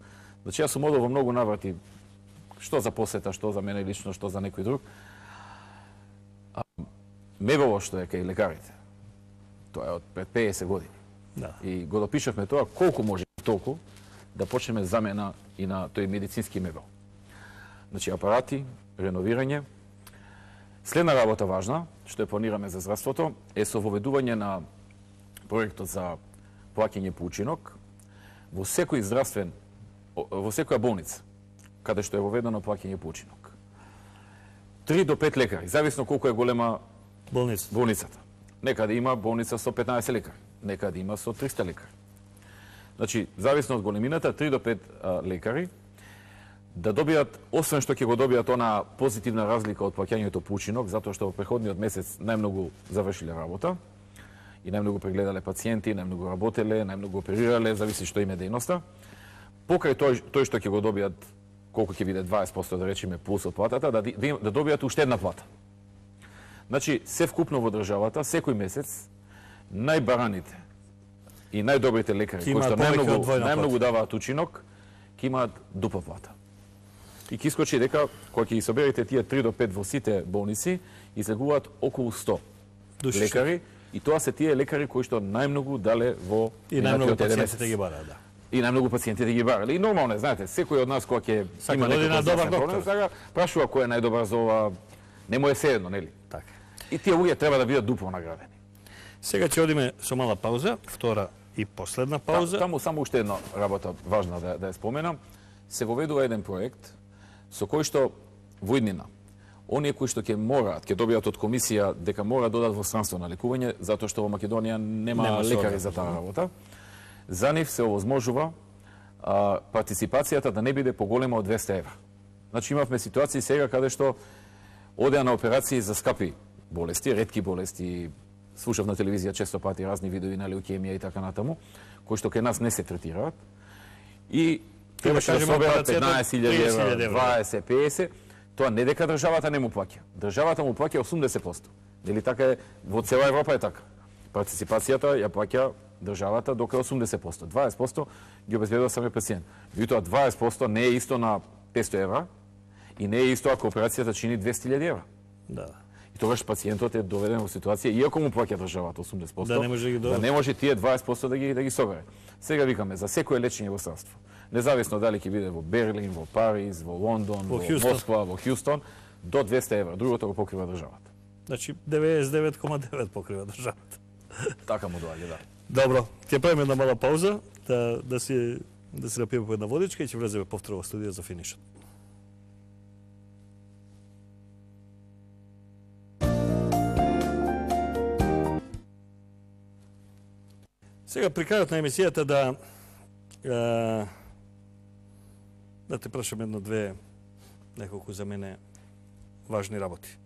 Значи јас сум одел во многу наврати, што за посета, што за мене лично, што за некој друг. А, мебело што е кај лекарите. Тоа е од пред педесет години. Да. И го допишавме тоа колку може толку да почнеме замена и на тој медицински мебел. Значи апарати, реновирање. Следна работа важна, што ја планираме за здравството, е со воведување на проектот за плаќање по учинок во секој здравствен, во секоја болница, каде што е воведено плаќање по учинок. Три до пет лекари, зависно колку е голема Болница. болницата. Некаде има болница со петнаесет лекари, некаде има со триста лекари. Значи, зависно од големината, три до пет а, лекари да добијат, освен што ќе го добијат она позитивна разлика од плаќањето по учинок, затоа што во преходниот месец најмногу завршиле работа и најмногу прегледале пациенти, најмногу работеле, најмногу оперирале, зависи што им е дејноста. Покрај тој, тој што ќе го добијат, колку ќе биде дваесет проценти да речеме плюс од платата, да, да, да добијат уште една плата. Значи, се вкупно во државата, секој месец, најбараните и најдобрите лекари, кои што најмногу, најмногу даваат учинок, ќе имаат дупла плата. И ќе искочи дека, кога ќе ги соберете тие три до пет во сите болници, излегуваат околу сто Души лекари, и тоа се тие лекари кои што најмногу дале во и најмногу пациентите ги бараат, да. И најмногу пациентите ги барале. И нормално е, знаете, секој од нас кога ќе има некој некој добар проблем, сега прашува кој е најдобар за ова, не му е седно, нели? Така. И тие луѓе треба да бидат дупло наградени. Сега ќе одиме со мала пауза, втора и последна пауза. Таму само уште една работа важна да, да ја споменам. Се воведува еден проект со кој што во иднина оние кои што ќе мораат, ќе добијат од комисија дека мора да одат во странство на лекување, затоа што во Македонија нема, нема лекари за таа работа. За нив се овозможува а, партиципацијата да не биде поголема од двесте евра. Значи имавме ситуации сега каде што одеа на операции за скапи болести, ретки болести, слушав на телевизија често пати разни видови на леукемија и така натаму, кои што кај нас не се третираат. И требаше да соберат петнаесет илјади евра, дваесет, педесет, тоа не дека државата не му плаќа. Државата му плаќа осумдесет проценти. Дели така е, во цела Европа е така. Партиципацијата ја плаќа државата до осумдесет проценти. дваесет проценти ги обезбедува самиот пациент. Меѓутоа дваесет проценти не е исто на петсто евра и не е исто ако операцијата чини двесте илјади евра. Да. И тогаш пациентот е доведен во ситуација, иако му плаќа државата осумдесет проценти, Да не може да, да не може тие дваесет проценти да ги да ги собере. Сега викаме за секое лечење во здравство. Независно дали ќе биде во Берлин, во Париз, во Лондон, во, во Москва, во Хјустон, до двесте евра. Другото го покрива државата. Значи деветдесет и девет зарез девет покрива државата. Така му доаѓа, да. Добро, ќе правиме една мала пауза, да да си да си напиеме по една водичка и ќе влеземе повторно во студија за финишот. Сега при крајот на емисијата да е, да те прашам едно-две неколку за мене важни работи.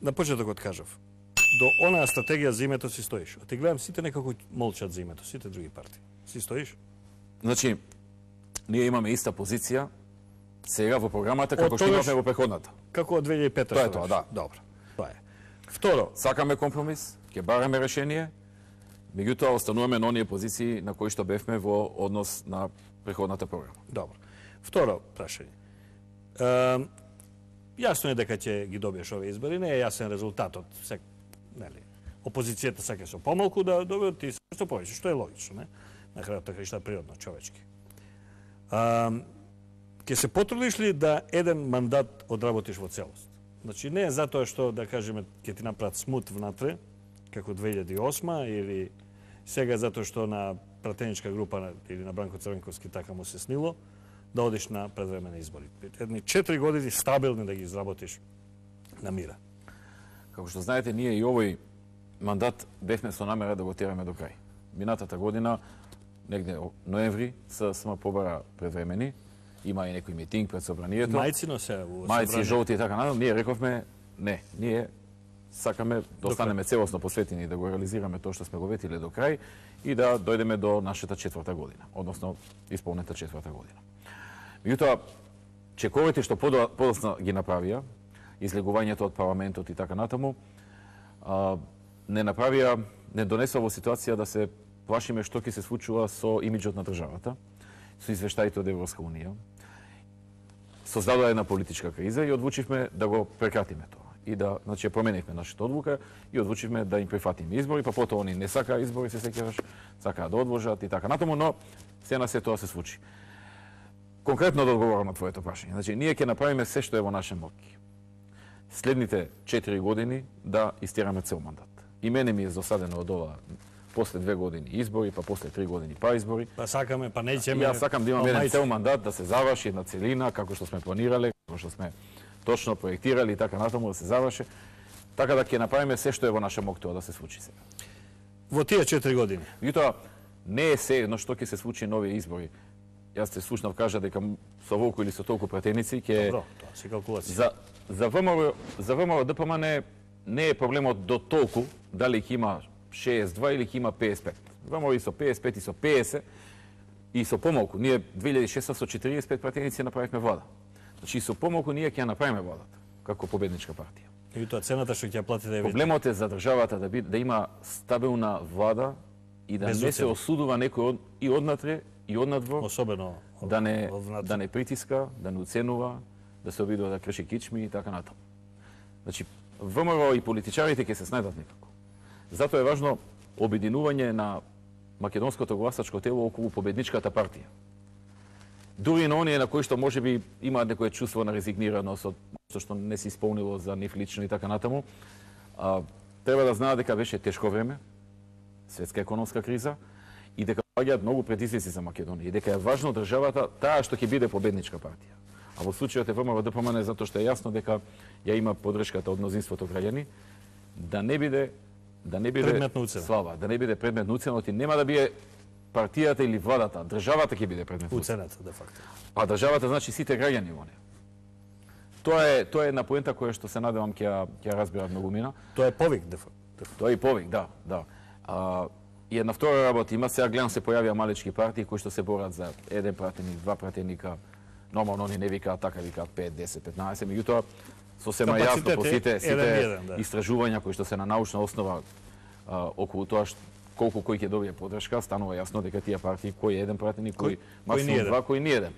На почетокот кажав, до онаа стратегија за името си стоиш. Оти гледам сите некако молчат за името, сите други партии. Си стоиш? Значи, ние имаме иста позиција сега во програмата како што имавме во преходната. Како од две илјади и пета. Тоа е тоа, да. Добро. Тоа е. Второ, сакаме компромис, ќе бараме решение, меѓутоа остануваме на оние позиции на кои што бевме во однос на преходната програма. Добро. Второ прашање. Е, јасно е дека ќе ги добиеш овие избори, не е јасен резултатот. Сек, нели, опозицијата сака со помалку да добиат ти што повеќе, што е логично, не? На крајот така што е природно, човечки. Е, ќе се потрудиш ли да еден мандат одработиш во целост? Значи не е затоа што да кажеме ќе ти направат смут внатре, како две илјади и осма или сега затоа што на пратеничка група или на Бранко Црвенковски така му се снило да одиш на предвременни избори. Едни четири години стабилни да ги изработиш на мира. Како што знаете, ние и овој мандат бевме со намера да го тераме до крај. Минатата година, негде ноември, ССМ побара предвремени, има и некој митинг пред собранието. Мајцино се во Мајци, жолти и така натаму. Ние рековме не, ние сакаме да останеме целосно посветени да го реализираме тоа што сме го ветиле до крај и да дојдеме до нашата четврта година, односно исполнета четврта година. Меѓутоа, чековите што подоцна ги направија, излегувањето од парламентот и така натаму, а, не направија, не донесува во ситуација да се плашиме што ќе се случува со имиџот на државата, со извештаите од Европска унија. Создадува една политичка криза и одлучивме да го прекратиме тоа. И да, значи, променивме нашата одлука и одлучивме да им прифатиме избори, па потоа они не сакаа избори, се сеќаваш, сакаа да одложат и така натаму, но се на се тоа се случи. Конкретно да одговорам на твоето прашање. Значи, ние ќе направиме се што е во наша моќ. Следните четири години да истераме цел мандат. И мене ми е досадено од ова после две години избори, па после три години па избори. Па сакаме, па неќеме. Јас сакам да имаме еден цел мандат да се заврши една целина како што сме планирале, како што сме точно проектирали и така натаму да се заврши. Така да ќе направиме се што е во наша моќ тоа да се случи сега. Во тие четири години. Меѓутоа не е се едно што ќе се случи нови избори. Јас те слушнав кажа дека со волку или со толку пратеници ќе Добро, тоа се калкулација. За за ВМРО за ВМРО ДПМН не, не е проблемот до толку дали ќе има шеесет и два или ќе има пеесет и пет. ВМРО и со пеесет и пет и со петдесет и со помалку. Ние две илјади и шеснаесет со четириесет и пет пратеници направивме влада. Значи и со помалку ние ќе ја направиме владата како победничка партија. И тоа цената што ќе ја платите е проблемот е за државата да би, да има стабилна влада и да Без не се уцена. осудува некој од, и однатре и однадвор, особено да не од да не притиска, да не уценува, да се обидува да крши кичми и така натаму. Значи ВМРО и политичарите ќе се снајдат некако. Затоа е важно обединување на македонското гласачко тело околу победничката партија. Дури на оние на кои што можеби имаат некое чувство на резигнираност од што не се исполнило за нив лично и така натаму, а, треба да знаат дека беше тешко време, светска економска криза и дека паѓаат многу предизвици за Македонија и дека е важно државата таа што ќе биде победничка партија. А во случајот е ВМРО ДПМН затоа што е јасно дека ја има поддршката од мнозинството граѓани да не биде да не биде слава, да не биде предмет на уцена, и нема да биде партијата или владата, државата ќе биде предмет на уцената де факто. А државата значи сите граѓани во неа. Тоа е тоа е една поента која што се надевам ќе ќе разберат многумина. Тоа е повик де факто. Тоа е и повик, да, да. А, и една втора работа има, сега гледам се појавија малечки партии кои што се борат за еден пратеник, два пратеника. Нормално они не викаат така, викаат пет, десет, петнаесет, меѓутоа сосема јасно по сите сите еден, да. истражувања кои што се на научна основа а, околу тоа што колку кој ќе добие подршка, станува јасно дека тие партии кој е еден пратеник, кој, кој максимум два, кој не еден.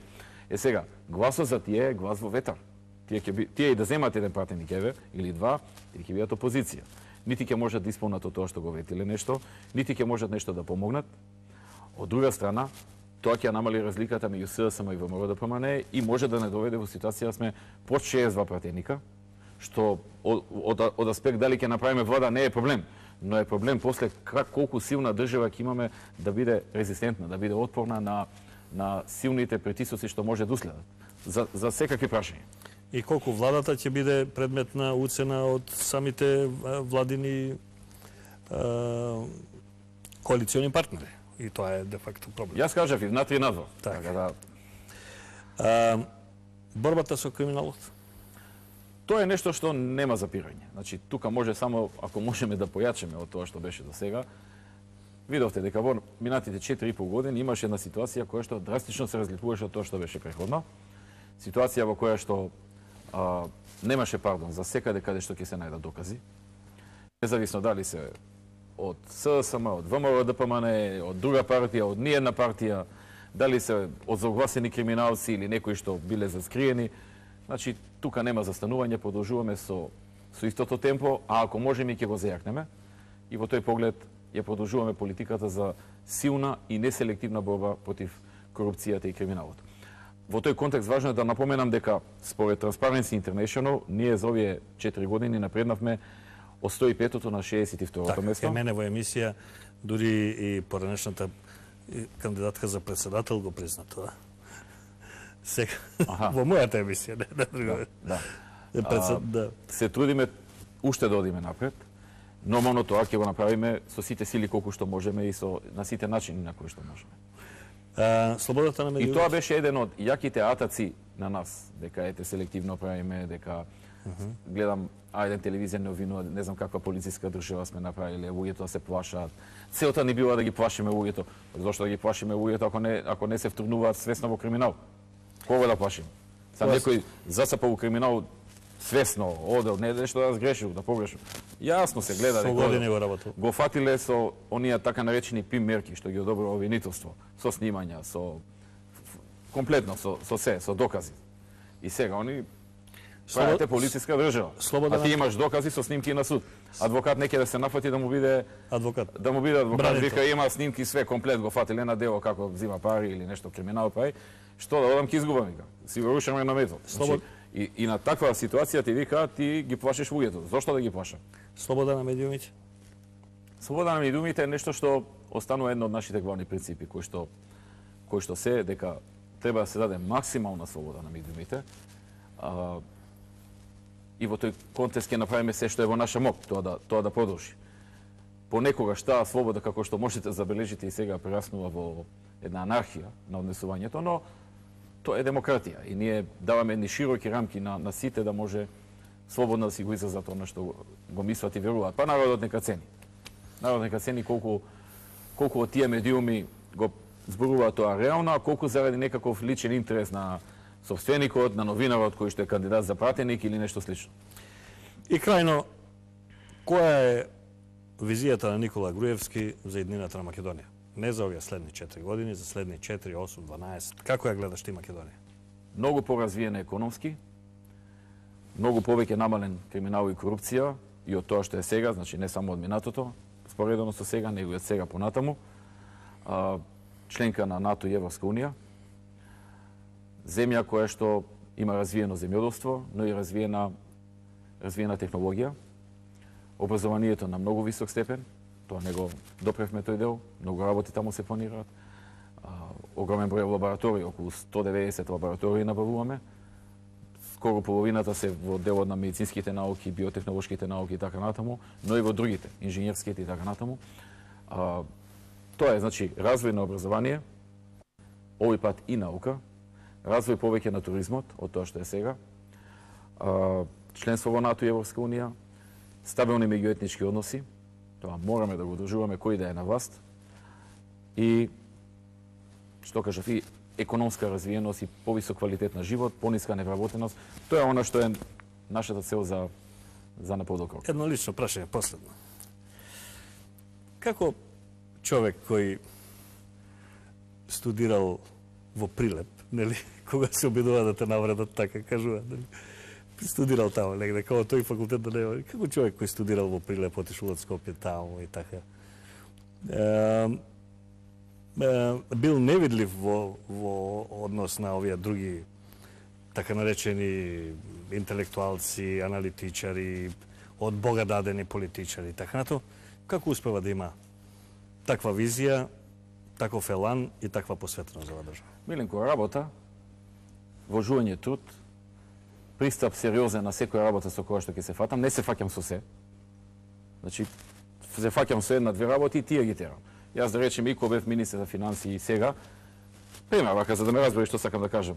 Е сега, гласот за тие е глас во ветар. Тие ќе би, тие и да земат еден пратеник еве или два, тие ќе бидат опозиција. Нити ќе можат да исполнат тоа што го ветиле нешто, нити ќе можат нешто да помогнат. Од друга страна, тоа ќе намали разликата меѓу СДСМ и ВМРО-ДПМН и може да не доведе во ситуација да сме под шеесет и два пратеника, што од, од, од аспект дали ќе направиме влада не е проблем, но е проблем после как, колку силна држава ќе имаме да биде резистентна, да биде отпорна на, на силните притисоци што може да уследат за, за секакви прашања. И колку владата ќе биде предмет на уцена од самите владини а, коалициони партнери. И тоа е де факто проблем. Јас кажав и внатре и надвор. Так. Така да... А, борбата со криминалот? Тоа е нешто што нема запирање. Значи, тука може само, ако можеме да појачеме од тоа што беше до сега, видовте дека во минатите четири и пол години имаше една ситуација која што драстично се разликуваше од тоа што беше претходно. Ситуација во која што а, немаше пардон за секаде каде што ќе се најдат докази. Независно дали се од СДСМ, од ВМРО-ДПМН, од друга партија, од ниедна партија, дали се од загласени криминалци или некои што биле заскриени. Значи, тука нема застанување, продолжуваме со, со истото темпо, а ако можеме ќе го зајакнеме. И во тој поглед ја продолжуваме политиката за силна и неселективна борба против корупцијата и криминалот. Во тој контекст важно е да напоменам дека според Transparency International ние за овие четири години напреднавме од сто и петото на шеесет и второто така, место. Кај мене во емисија дури и поранешната кандидатка за председател го призна тоа. Сега, во мојата емисија, не на друга. Да. Да. Председ... А, да. Се трудиме уште да одиме напред. Нормално тоа ќе го направиме со сите сили колку што можеме и со на сите начини на кои што можеме. А, слободата на медиумите. И тоа беше еден од јаките атаци на нас, дека ете селективно правиме, дека uh -huh. гледам а еден телевизија не обвинува, не знам каква полициска држава сме направиле, луѓето да се плашат. Целта ни била да ги плашиме луѓето. Зошто да ги плашиме луѓето ако не ако не се втргнуваат свесно во криминал? Кога да плашим? Са некој засапа во криминал свесно, одел, не нешто да сгрешил, да погрешил. Јасно се гледа дека години го работел. Го фатиле со оние така наречени пим мерки што ги одобрува обвинителство, со снимања, со комплетно со со се, со докази. И сега они правите полициска држава. Слобода а ти имаш докази со снимки на суд. Адвокат неќе да се нафати да му биде адвокат. Да му биде адвокат, Бранител. вика има снимки све комплет го фатиле на дело како взима пари или нешто криминал прави. Што да одам ќе изгубам вика. Си го рушаме на метод. Слобод... Значи, и, и на таква ситуација ти вика ти ги плашиш луѓето. Зошто да ги плашам? Слобода на медиумите. Слобода на медиумите е нешто што останува едно од нашите главни принципи кои што кои што се дека треба да се даде максимална слобода на медиумите. А, и во тој контекст ќе направиме се што е во наша мок, тоа да тоа да продолжи. Понекогаш таа слобода како што можете да забележите и сега прераснува во една анархија на однесувањето, но тоа е демократија и ние даваме едни широки рамки на, на сите да може слободно да си го изразат она што го мислат и веруваат. Па народот нека цени. Народот нека цени колку колку од тие медиуми го зборуваат тоа реално, а колку заради некаков личен интерес на собственикот, на новинарот кој што е кандидат за пратеник или нешто слично. И крајно, која е визијата на Никола Груевски за иднината на Македонија? Не за овие следни четири години, за следни четири, осум, дванаесет. Како ја гледаш ти Македонија? Многу поразвиена економски, многу повеќе намален криминал и корупција и од тоа што е сега, значи не само од минатото, споредено со сега, него и од сега понатаму. А, членка на НАТО и Европска унија. Земја која што има развиено земјоделство, но и развиена развиена технологија. Образованието на многу висок степен, тоа не го допревме тој дел, многу работи таму се планираат. А, огромен број лаборатории, околу сто деветдесет лаборатории набавуваме. Скоро половината се во делот на медицинските науки, биотехнолошките науки и така натаму, но и во другите, инженерските и така натаму. А, тоа е, значи, развој на образование, овој пат и наука, развој повеќе на туризмот, од тоа што е сега, а, членство во НАТО и Европска унија, стабилни меѓуетнички односи, тоа мораме да го одржуваме кој да е на власт, и, што кажав, и економска развиеност и повисок квалитет на живот, пониска невработеност, тоа е она што е нашата цел за, за наподокол. Едно лично прашање, последно. како човек кој студирал во Прилеп, нели, кога се обидува да те навредат, така кажува, нели, студирал таму негде, како тој факултет да нема, како човек кој студирал во Прилеп, отишол од Скопје таму и така. Е, е, бил невидлив во, во однос на овие други така наречени интелектуалци, аналитичари, од Бога дадени политичари, така нато, како успева да има таква визија, таков елан и таква посветеност за држава? Миленко, работа, вложување труд, пристап сериозен на секоја работа со која што ќе се фатам, не се фаќам со се. Значи, се фаќам со една-две работи и тие ги терам. Јас да речем, и кога бев министер за финансии и сега, пример, вака, за да ме разбери што сакам да кажам,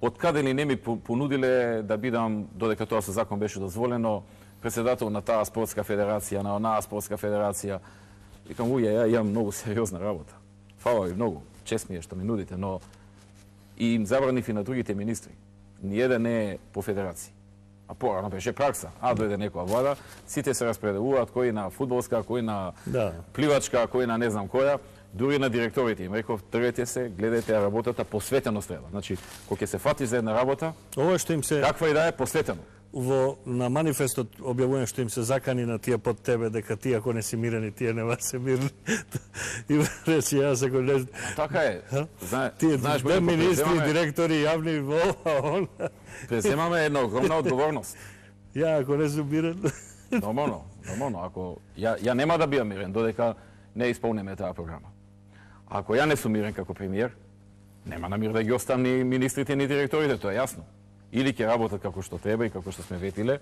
од каде ли не ми понудиле да бидам, додека тоа со закон беше дозволено, председател на таа спортска федерација, на онаа спортска федерација. Викам, уја, ја имам многу сериозна работа. Фала ви многу, чест ми е што ми нудите, но и им забранив и на другите министри. Ниеден не е по федерација. А порано беше пракса. А дојде некоја влада, сите се распределуваат, кој на фудбалска, кој на да. пливачка, кој на не знам која. Дури на директорите им реков, тргате се, гледајте работата, посветено треба. Значи, кога ќе се фатиш за една работа, ова што им се каква и да е, посветено. Во на манифестот објавувам што им се закани на тие под тебе дека ти ако не си мирен и тие нема се мирни. И речи јас ако не така е. Зна... Тие знаеш две министри, преземаме... директори јавни во он. Преземаме една огромна одговорност. Ја ако не сум мирен. Нормално, нормално. Ако ја ја нема да бидам мирен додека не исполниме таа програма. Ако ја не сум мирен како премиер, нема на мир да ги оставам ни министрите ни директорите, тоа е јасно. Или ќе работат како што треба и како што сме ветиле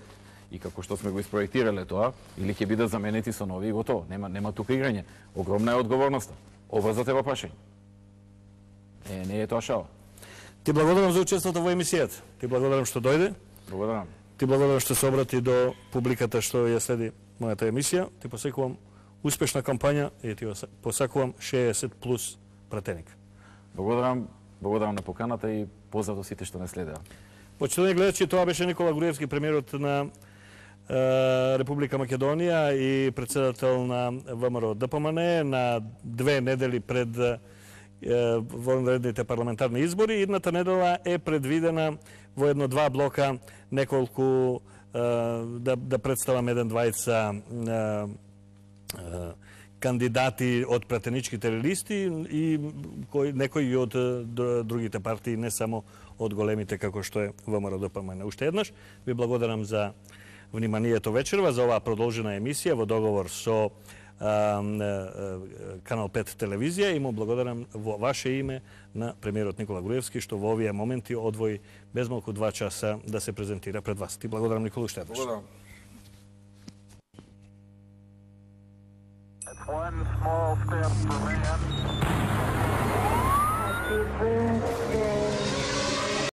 и како што сме го испроектирале тоа, или ќе бидат заменети со нови и готово. Нема нема тука играње. Огромна е одговорноста. Обрзате во прашање. Е, не е тоа шала. Ти благодарам за учеството во емисијата. Ти благодарам што дојде. Благодарам. Ти благодарам што се обрати до публиката што ја следи мојата емисија. Ти посекувам успешна кампања и ти посакувам шеесет плюс пратеник. Благодарам, благодарам на поканата и поздрав до сите што не следеа. Почитувани гледачи, тоа беше Никола Груевски, премиерот на е, Република Македонија и председател на ВМРО ДПМН на две недели пред е, вонредните парламентарни избори. Идната недела е предвидена во едно-два блока неколку е, да, да представам еден-двајца е, е, кандидати од пратеничките листи и кои, некои од другите партии, не само од големите како што е ВМРО ДПМН. Уште еднаш ви благодарам за вниманието вечерва, за оваа продолжена емисија во договор со а, а, Канал пет телевизија и му благодарам во ваше име на премиерот Никола Груевски што во овие моменти одвои безмалку два часа да се презентира пред вас. Ти благодарам, Никола, уште еднаш. Благодарам. One small step for man.